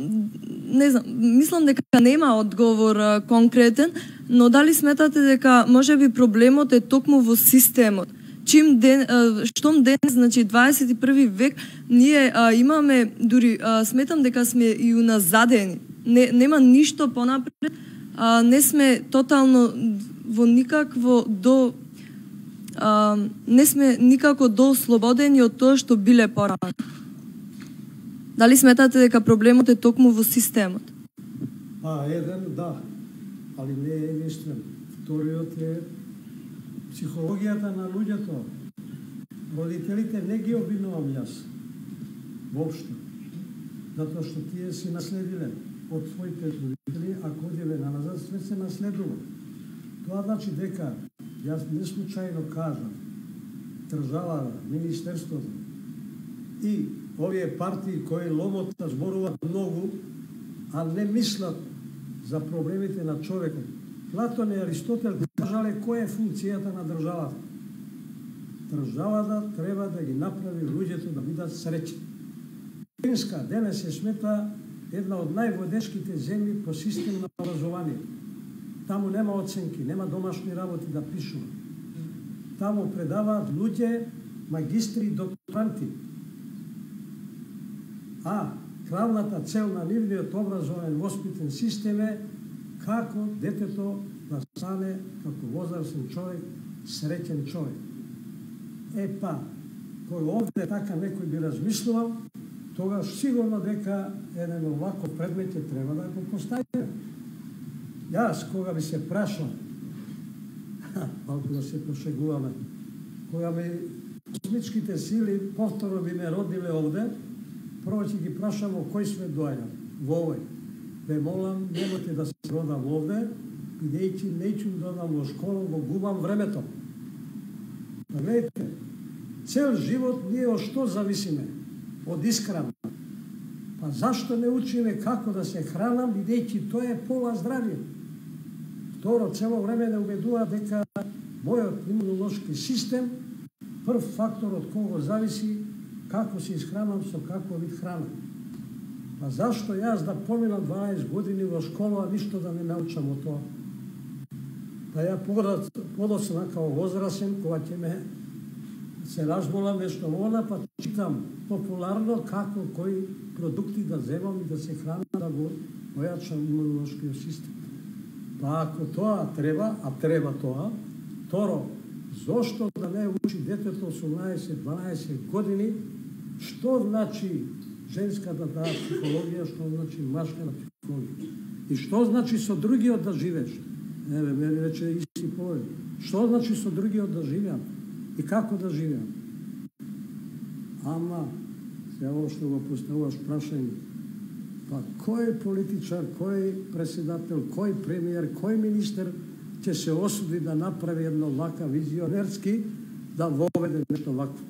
не знам, мислам дека нема одговор а, конкретен, но дали сметате дека можеби проблемот е токму во системот? Чим ден, а, штом ден, значи дваесет и први век, ние а, имаме, дури а, сметам дека сме и уназадени. Не, нема ништо понапред, а, не сме тотално во никакво до а, не сме никако до слободени од тоа што биле порано. Дали сметате дека проблемот е токму во системот? А, еден, да, али не е единствен. Вториот е психологијата на луѓето. Родителите не ги обвинувам јас. Воопшто. Затоа што тие си наследиле од своите родители, ако одиме на назад, све се наследува. Тоа значи дека, јас не случајно кажам, државата, министерството и овие партии кои ломота зборуваат многу, а не мислат за проблемите на човекот. Платон и Аристотел кажале која е функцијата на државата. Државата треба да ги направи луѓето да бидат среќни. Финска денес се смета една од најводечките земји по систем на образование. Таму нема оценки, нема домашни работи да пишува. Таму предаваат луѓе, магистри и докторанти. А главната цел на нивниот образовен воспитен систем е како детето да стане како возрастен човек, среќен човек. Е па, кој овде така некој би размислувал, тогаш сигурно дека еден оваков предмет ќе треба да го поставиме. Јас, кога би се прашал, малку да се пошегуваме, кога ми космичките сили повторно би ме родиле овде, прво ќе ги прашам во кој свет доаѓам, во овој. Ве молам, немојте да се родам овде, бидејќи неќум да одам во школа, го губам времето. Па гледайте, цел живот ние од што зависиме? Од исхрана. Па зашто не учиме како да се хранам, бидејќи тоа е пола здравје? Второ, цело време не убедува дека мојот имунолошки систем прв фактор од кого зависи како се исхранам, со какво вид храна. Па зашто јас да поминам дванаесет години во школа, а ништо да не научам од тоа? Па ја подоцна као возрасен, кога ќе ме се разболам нешто она, па читам популарно како кои продукти да земам и да се хранам, да го ојачам имунолошкиот систем. Па ако тоа треба, а треба тоа, второ, зошто да не учи детето осумнаесет-дванаесет години, што значи женска да даа психологија, што значи машка на психологија. И што значи со другиот да живееш? Еве, мене рече исти повед. Што значи со другиот да живеам? И како да живеам? Ама, се ово што го поставуваш прашање, па кој политичар, кој председател, кој премиер, кој министер ќе се осуди да направи едно вака визионерски, да воведе нешто вакво?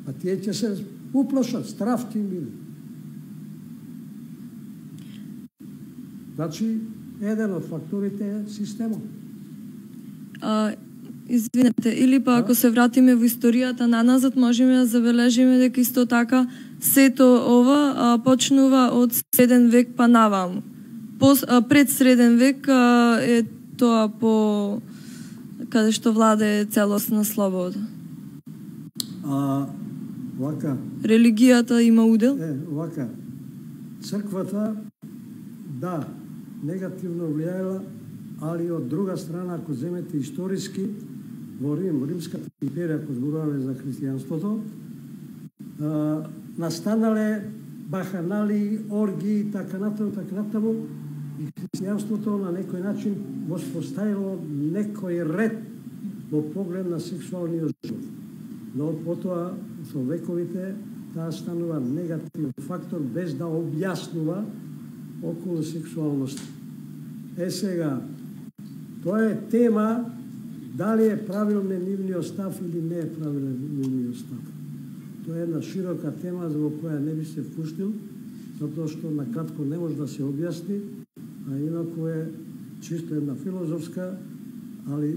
А тие ќе се уплашат, страв ќе им биде. Значи, еден од факторите е системот. А, извинете, или па ако се вратиме во историјата наназад, можеме да забележиме дека исто така сето ова а, почнува од среден век па наваму. Пос, а, пред среден век а, е тоа по каде што владе целосна слобода. А, вака. Религијата има удел? Е, вака. Црквата, да, негативно влијаела, али од друга страна, ако земете историски, во Рим, во Римската империја, ако зборуваме за христијанството, а, настанале баханали, орги и така натаму, така натаму, и христијанството на некој начин воспоставило некој ред во поглед на сексуалниот живот. Но потоа, со вековите, таа станува негативен фактор без да објаснува околу сексуалност. Е сега, тоа е тема дали е правилен нивниот став или не е правилен нивниот став. Тоа е една широка тема во која не би се впуштил, затоа што на кратко не може да се објасни, а инаку е чисто една филозофска, али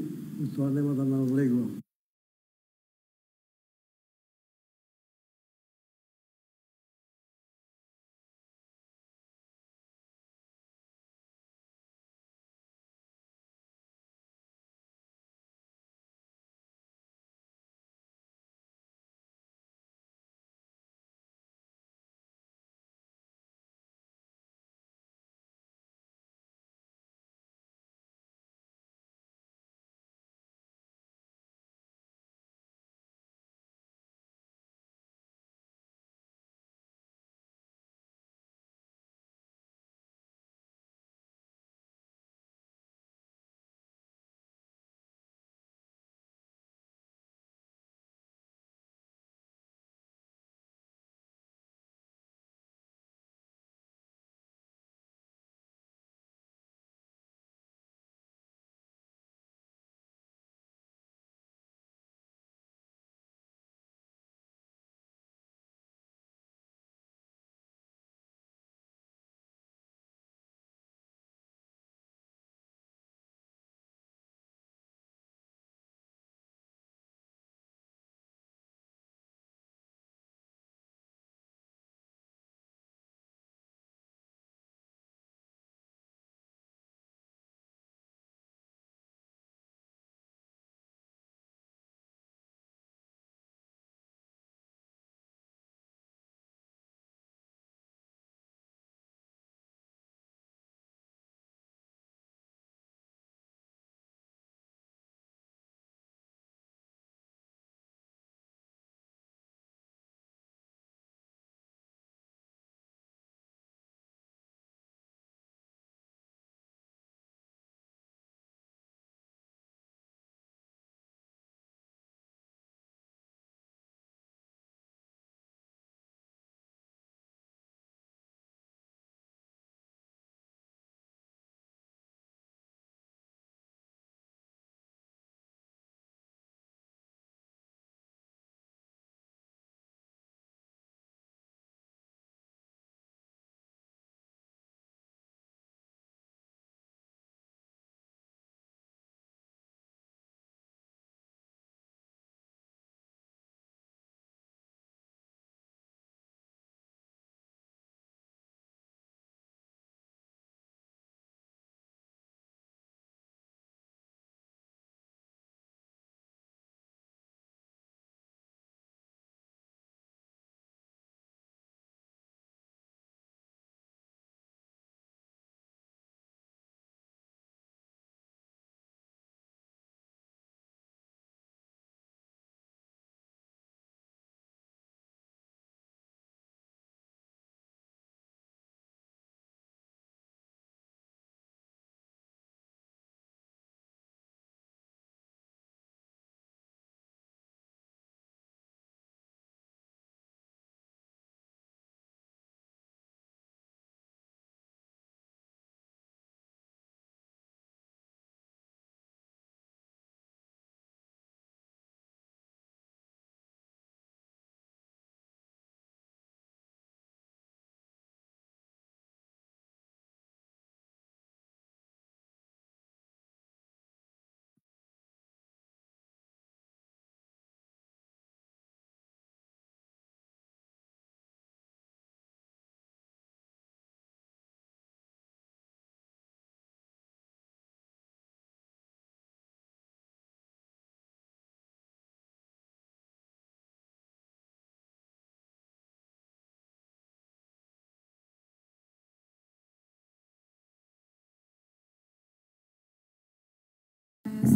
тоа нема да навлегувам.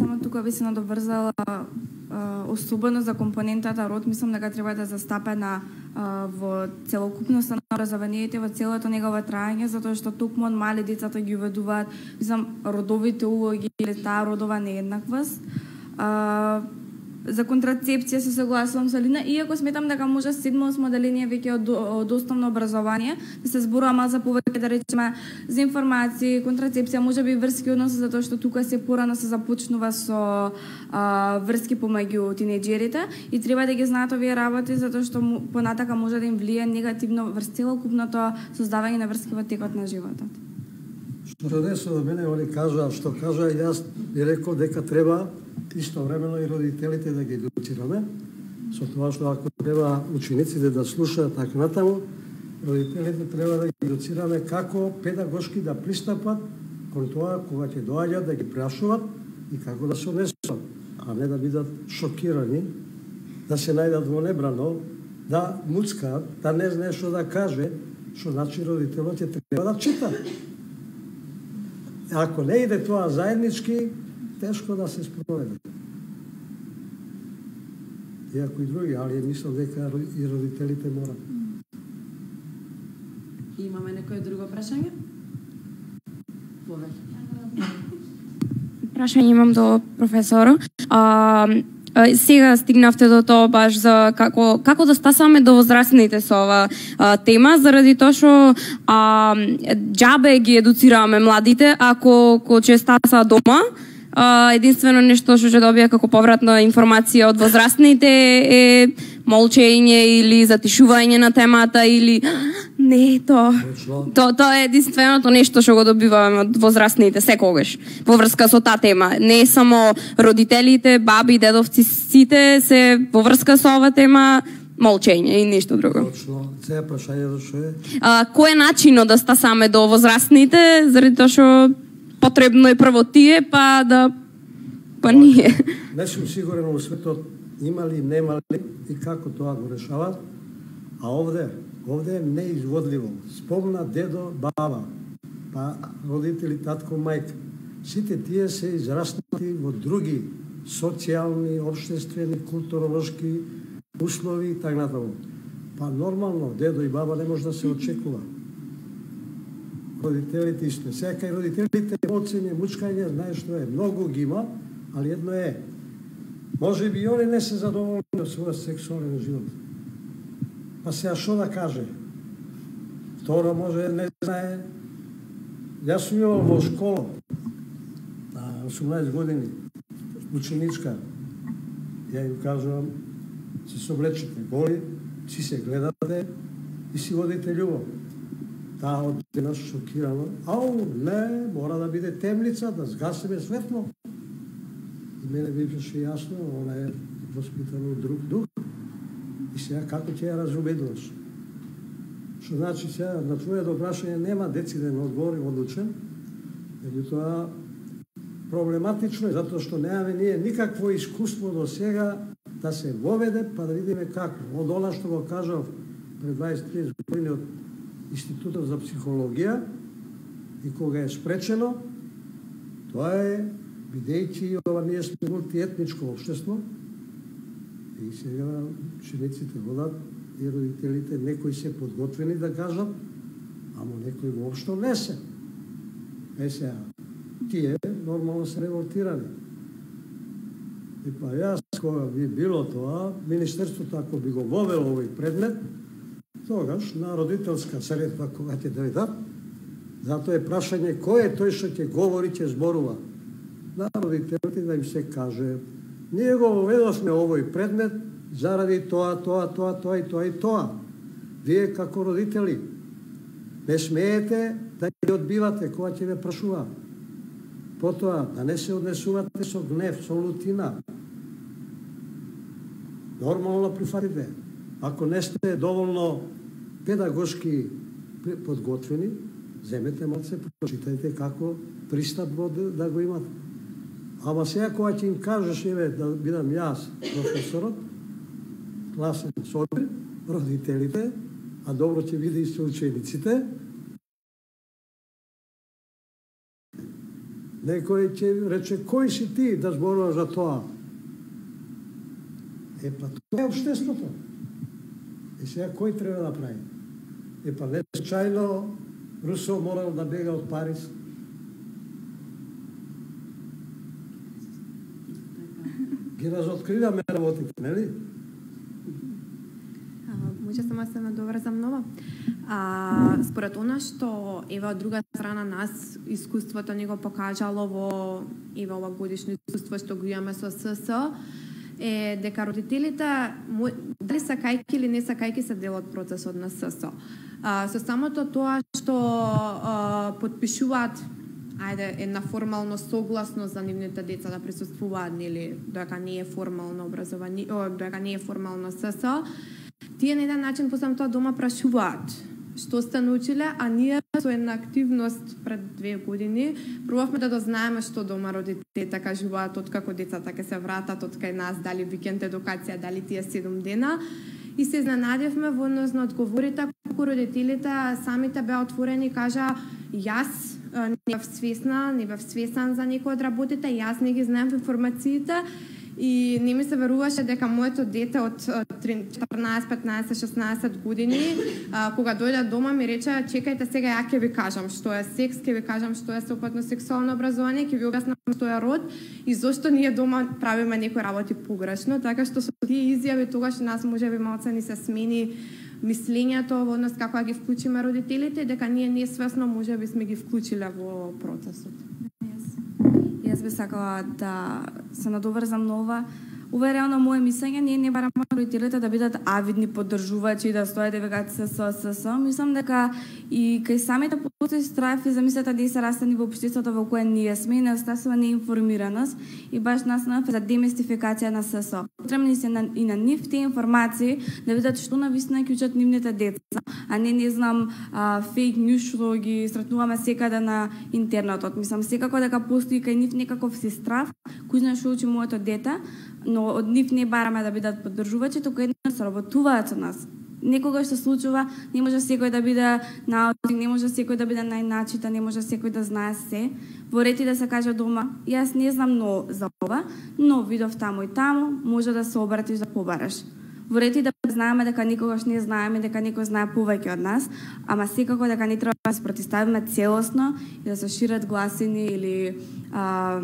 само тука би се надоврзала особено за компонентата род, мислам дека треба да застапена во целокупноста на образованието, во целото негово траење, затоа што токму од мали децата ги уведуваат, мислам, родовите улоги или таа родова нееднаквост. За контрацепција се согласувам со Лина, иако сметам дека може седмо осмо деление веќе од, од основно образование да се зборува мал за повеќе, да речеме, за информации, контрацепција, може би врски односи, затоа што тука се порано се започнува со а, врски помеѓу тинејџерите и треба да ги знаат овие работи, затоа што понатака може да им влие негативно врз целокупното создавање на врски во текот на животот. Што се деси до мене, они кажа, што кажа, јас би рекол дека треба истовремено и родителите да ги едуцираме, со тоа што ако треба учениците да слушаат така натаму, родителите треба да ги едуцираме како педагошки да пристапат кон тоа кога ќе доаѓат да ги прашуваат и како да се однесуваат, а не да бидат шокирани, да се најдат во небрано, да муцкаат, да не знае што да каже, што значи родителот ќе треба да чита. Ако не иде тоа заеднички, тешко да се спроведе. Иако и други, али мислам дека и родителите морат. Имаме некое друго прашање? Прашање имам до професорот. А, сега стигнавте до тоа баш за како како да стасаме до возрастните со ова а, тема, заради тоа што а, џабе ги едуцираме младите ако ко че стаса дома. Uh, единствено нешто што ќе добија како повратна информација од возрастните е молчење или затишување на темата или не тоа. Тоа то е единственото нешто што го добиваме од возрастните секогаш во врска со таа тема. Не само родителите, баби, дедовци, сите се во врска со оваа тема молчење и ништо друго. Точно. Сега прашањето што е? Uh, кој е начинот да стасаме до возрастните, заради тоа што потребно е прво тие, па да па ние. Не сум сигурен во светот има ли, нема ли и како тоа го решават, а овде, овде е неизводливо. Спомна дедо, баба, па родители, татко, мајка. Сите тие се израснати во други социјални, општествени, културолошки услови и така натаму. Па нормално дедо и баба не може да се очекува. Родителите исто. Сега и родителите емоцијни, мучкање, знаеш што е, многу ги има, али едно е, може би и они не се задоволни од својот сексуален живот. Па сега што да каже? Второ, може не знае. Јас сум имал во школа, на осумнаесет години, ученичка. Ја им кажувам, се соблечете голи, си се гледате и си водите љубов. Таа од денас шокирана. Ау, не, мора да биде темница, да згасиме светло. И мене беше јасно, она е воспитана од друг дух. И сега како ќе ја разумедуваш? Што значи сега, на твоето прашање нема дециден одговор одлучен, меѓутоа проблематично е, затоа што немаме ние никакво искуство до сега да се воведе, па да видиме како. Од она што го кажав пред дваесет-тридесет години од Институтот за психологија и кога е спречено, тоа е, бидејќи ова ние сме мултиетничко општество, и сега учениците водат и родителите, некои се подготвени да кажат, ама некои воопшто не се. Е сега, тие нормално се револтирани. И па јас, кога би било тоа, Министерството, ако би го вовело овој предмет, тогаш на родителска средба кога ќе дојдат, затоа е прашање кој е тој што ќе говори, ќе зборува. На родителите да им се каже, ние го воведовме овој предмет заради тоа, тоа, тоа, тоа и тоа и тоа. Вие како родители не смеете да ги одбивате кога ќе ве прашуваат. Потоа да не се однесувате со гнев, со лутина. Нормално прифатите. Ако не сте доволно педагошки подготвени, земете малце, прочитајте како пристап да го имат. Ама сега кога ќе им кажеш, еве, да бидам јас, професорот, класен собир, родителите, а добро ќе биде и со учениците, Некој ќе рече, кој си ти да зборуваш за тоа? Е, па тоа е општеството. И сега кој треба да прави? Е, па не случајно Русо морал да бега од Париз. Ги разоткриваме работите, нели? Може само се надоврзам ново. А, според она што ева од друга страна нас искуството ни го покажало во ева ова годишно искуство што го имаме со СС е дека родителите дали сакајки или не сакајки се дел од процесот на СС. А, со самото тоа што а, подпишуваат ајде една формално согласност за нивните деца да присуствуваат нели дека не е формално образование, о, дека не е формално СС, тие на еден начин после тоа дома прашуваат што сте научиле, а ние со една активност пред две години пробавме да дознаеме што дома родителите кажуваат откако децата ќе се вратат од кај нас, дали викенд едукација, дали тие седум дена. И се изненадевме во однос на одговорите, колку родителите самите беа отворени и кажа јас не бев свесна, не бев свесен за некои од работите, јас не ги знаем информациите и не ми се веруваше дека моето дете од четрнаесет, петнаесет, шеснаесет години, а, кога дојде дома ми рече, чекајте сега ја ќе ви кажам што е секс, ќе ви кажам што е сеопфатно сексуално образование, ќе ви објаснам што е род и зошто ние дома правиме некои работи погрешно, така што со тие изјави тогаш нас можеби малце ни се смени мислењето во однос како ги вклучиме родителите, дека ние несвесно можеби сме ги вклучиле во процесот. Јас би сакала да се надоврзам на ова. Ова е реално мое мислење, ние не бараме родителите да бидат авидни поддржувачи, да стојат и векаат се со се со. Мислам дека и кај самите постои страв и замислете да се растени во општеството во кое ние сме и недостасува неинформираност и баш нас на за демистификација на ССО. Потребни се на, и на нив тие информации да видат што навистина ќе учат нивните деца, а не не знам а, фейк нюз што ги сретнуваме секаде на интернетот. Мислам секако дека постои кај нив некаков си страв, кој знае што учи моето дете, но од нив не бараме да бидат поддржувачи, туку едно се работуваат со нас. Некогаш се случува, не може секој да биде научник, не може секој да биде најначитан, не може секој да знае се. Во ред и да се каже дома, јас не знам но за ова, но видов таму и таму, може да се обратиш да побараш. Во ред и да знаеме дека никогаш не знаеме, дека некој знае повеќе од нас, ама секако дека не треба да се протиставиме целосно и да се шират гласини или а,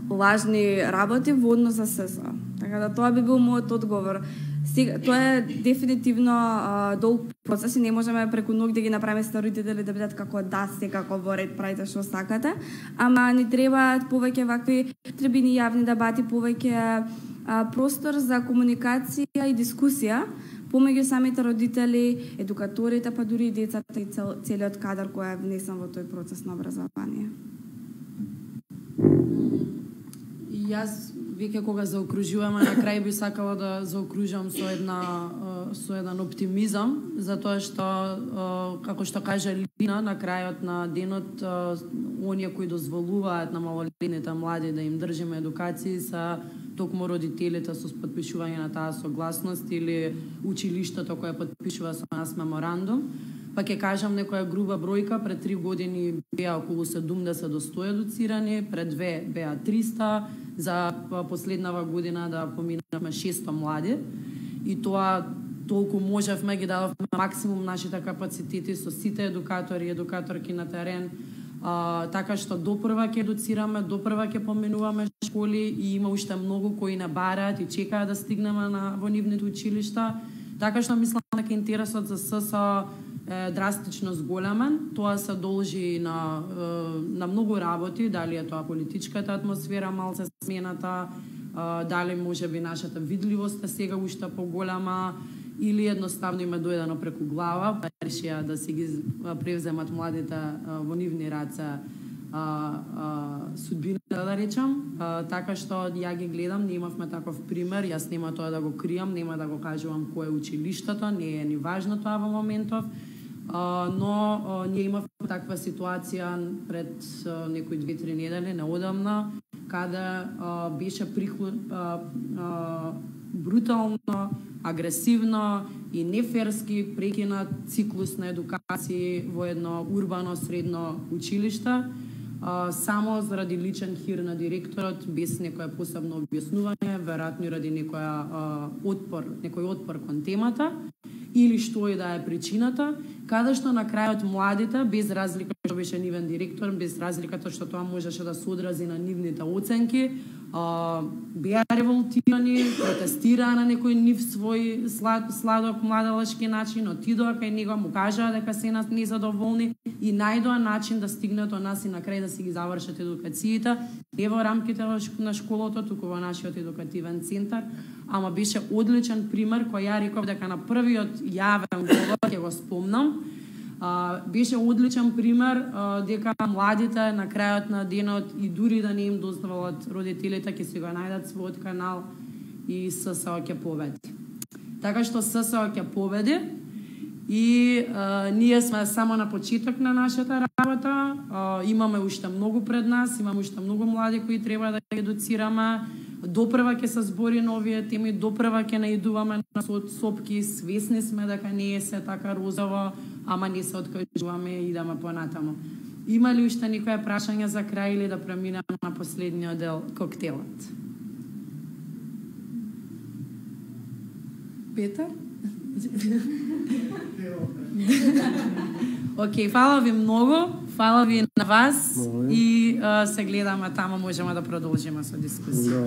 лажни работи во однос за ССО. Така да тоа би бил мојот одговор. Сега, тоа е дефинитивно а, долг процес и не можеме преку ноќ да ги направиме родители да бидат како да, секако во ред правите што сакате, ама ни требаат повеќе вакви трибини јавни дебати, повеќе а, простор за комуникација и дискусија помеѓу самите родители, едукаторите, па дури и децата и цел, целиот кадар кој е внесен во тој процес на образование. Јас веќе кога заокружуваме на крај би сакала да заокружам со една со еден оптимизам, затоа што како што кажа Лина на крајот на денот, оние кои дозволуваат на малолетните млади да им држиме едукација се токму родителите со подпишување на таа согласност или училиштето кое подпишува со нас меморандум. Па ќе кажам некоја груба бројка, пред три години беа околу седумдесет до сто едуцирани, пред две беа триста, за последнава година да поминавме шесто млади. И тоа толку можевме, ги дадовме максимум нашите капацитети со сите едукатори и едукаторки на терен, а, така што допрва ќе едуцираме, допрва ќе поминуваме школи и има уште многу кои не бараат и чекаат да стигнеме на во нивните училишта. Така што мислам дека интересот за ССО е драстично зголемен. Тоа се должи на, на многу работи, дали е тоа политичката атмосфера малце смената, дали може би нашата видливост е сега уште поголема, или едноставно има дојдено преку глава, па решија да си ги превземат младите во нивни раце судбината, да речам. А, така што ја ги гледам, ние имавме таков пример, јас нема тоа да го кријам, нема да го кажувам кој е училиштето, не е ни важно тоа во моментов, а, но а, ние имавме таква ситуација пред а, некои две-три недели, неодамна, каде а, беше приход, а, а, брутално, агресивно и неферски прекинат циклус на едукација во едно урбано средно училиште. а, само заради личен хир на директорот, без некое посебно објаснување, веројатно ради некоја а, отпор, некој отпор кон темата, или што и да е причината, каде што на крајот младите, без разлика што беше нивен директор, без разликата што тоа можеше да се одрази на нивните оценки, а, беа револтирани, протестираа на некој нив свој слад, сладок младалешки начин, отидоа кај него, му кажаа дека се нас незадоволни и најдоа начин да стигнат до нас и на крај да си ги завршат едукациите, не во рамките на школото, туку во нашиот едукативен центар, ама беше одличен пример кој ја реков дека на првиот јавен говор ќе го спомнам. А, беше одличен пример а, дека младите на крајот на денот и дури да не им дозволат родителите ќе си го најдат својот канал и ССО ќе победи. Така што ССО ќе победи и а, ние сме само на почеток на нашата работа. А, имаме уште многу пред нас, имаме уште многу млади кои треба да ги едуцираме. Допрва ќе се збори на овие теми, допрва ќе наидуваме на сопки, свесни сме дека не е се така розово, ама не се откажуваме и идеме понатаму. Има ли уште некоја прашање за крај или да преминеме на последниот дел, коктелот? Петар? Океј, фала ви многу, фала ви на вас и uh, се гледаме таму, можеме да продолжиме со дискусија.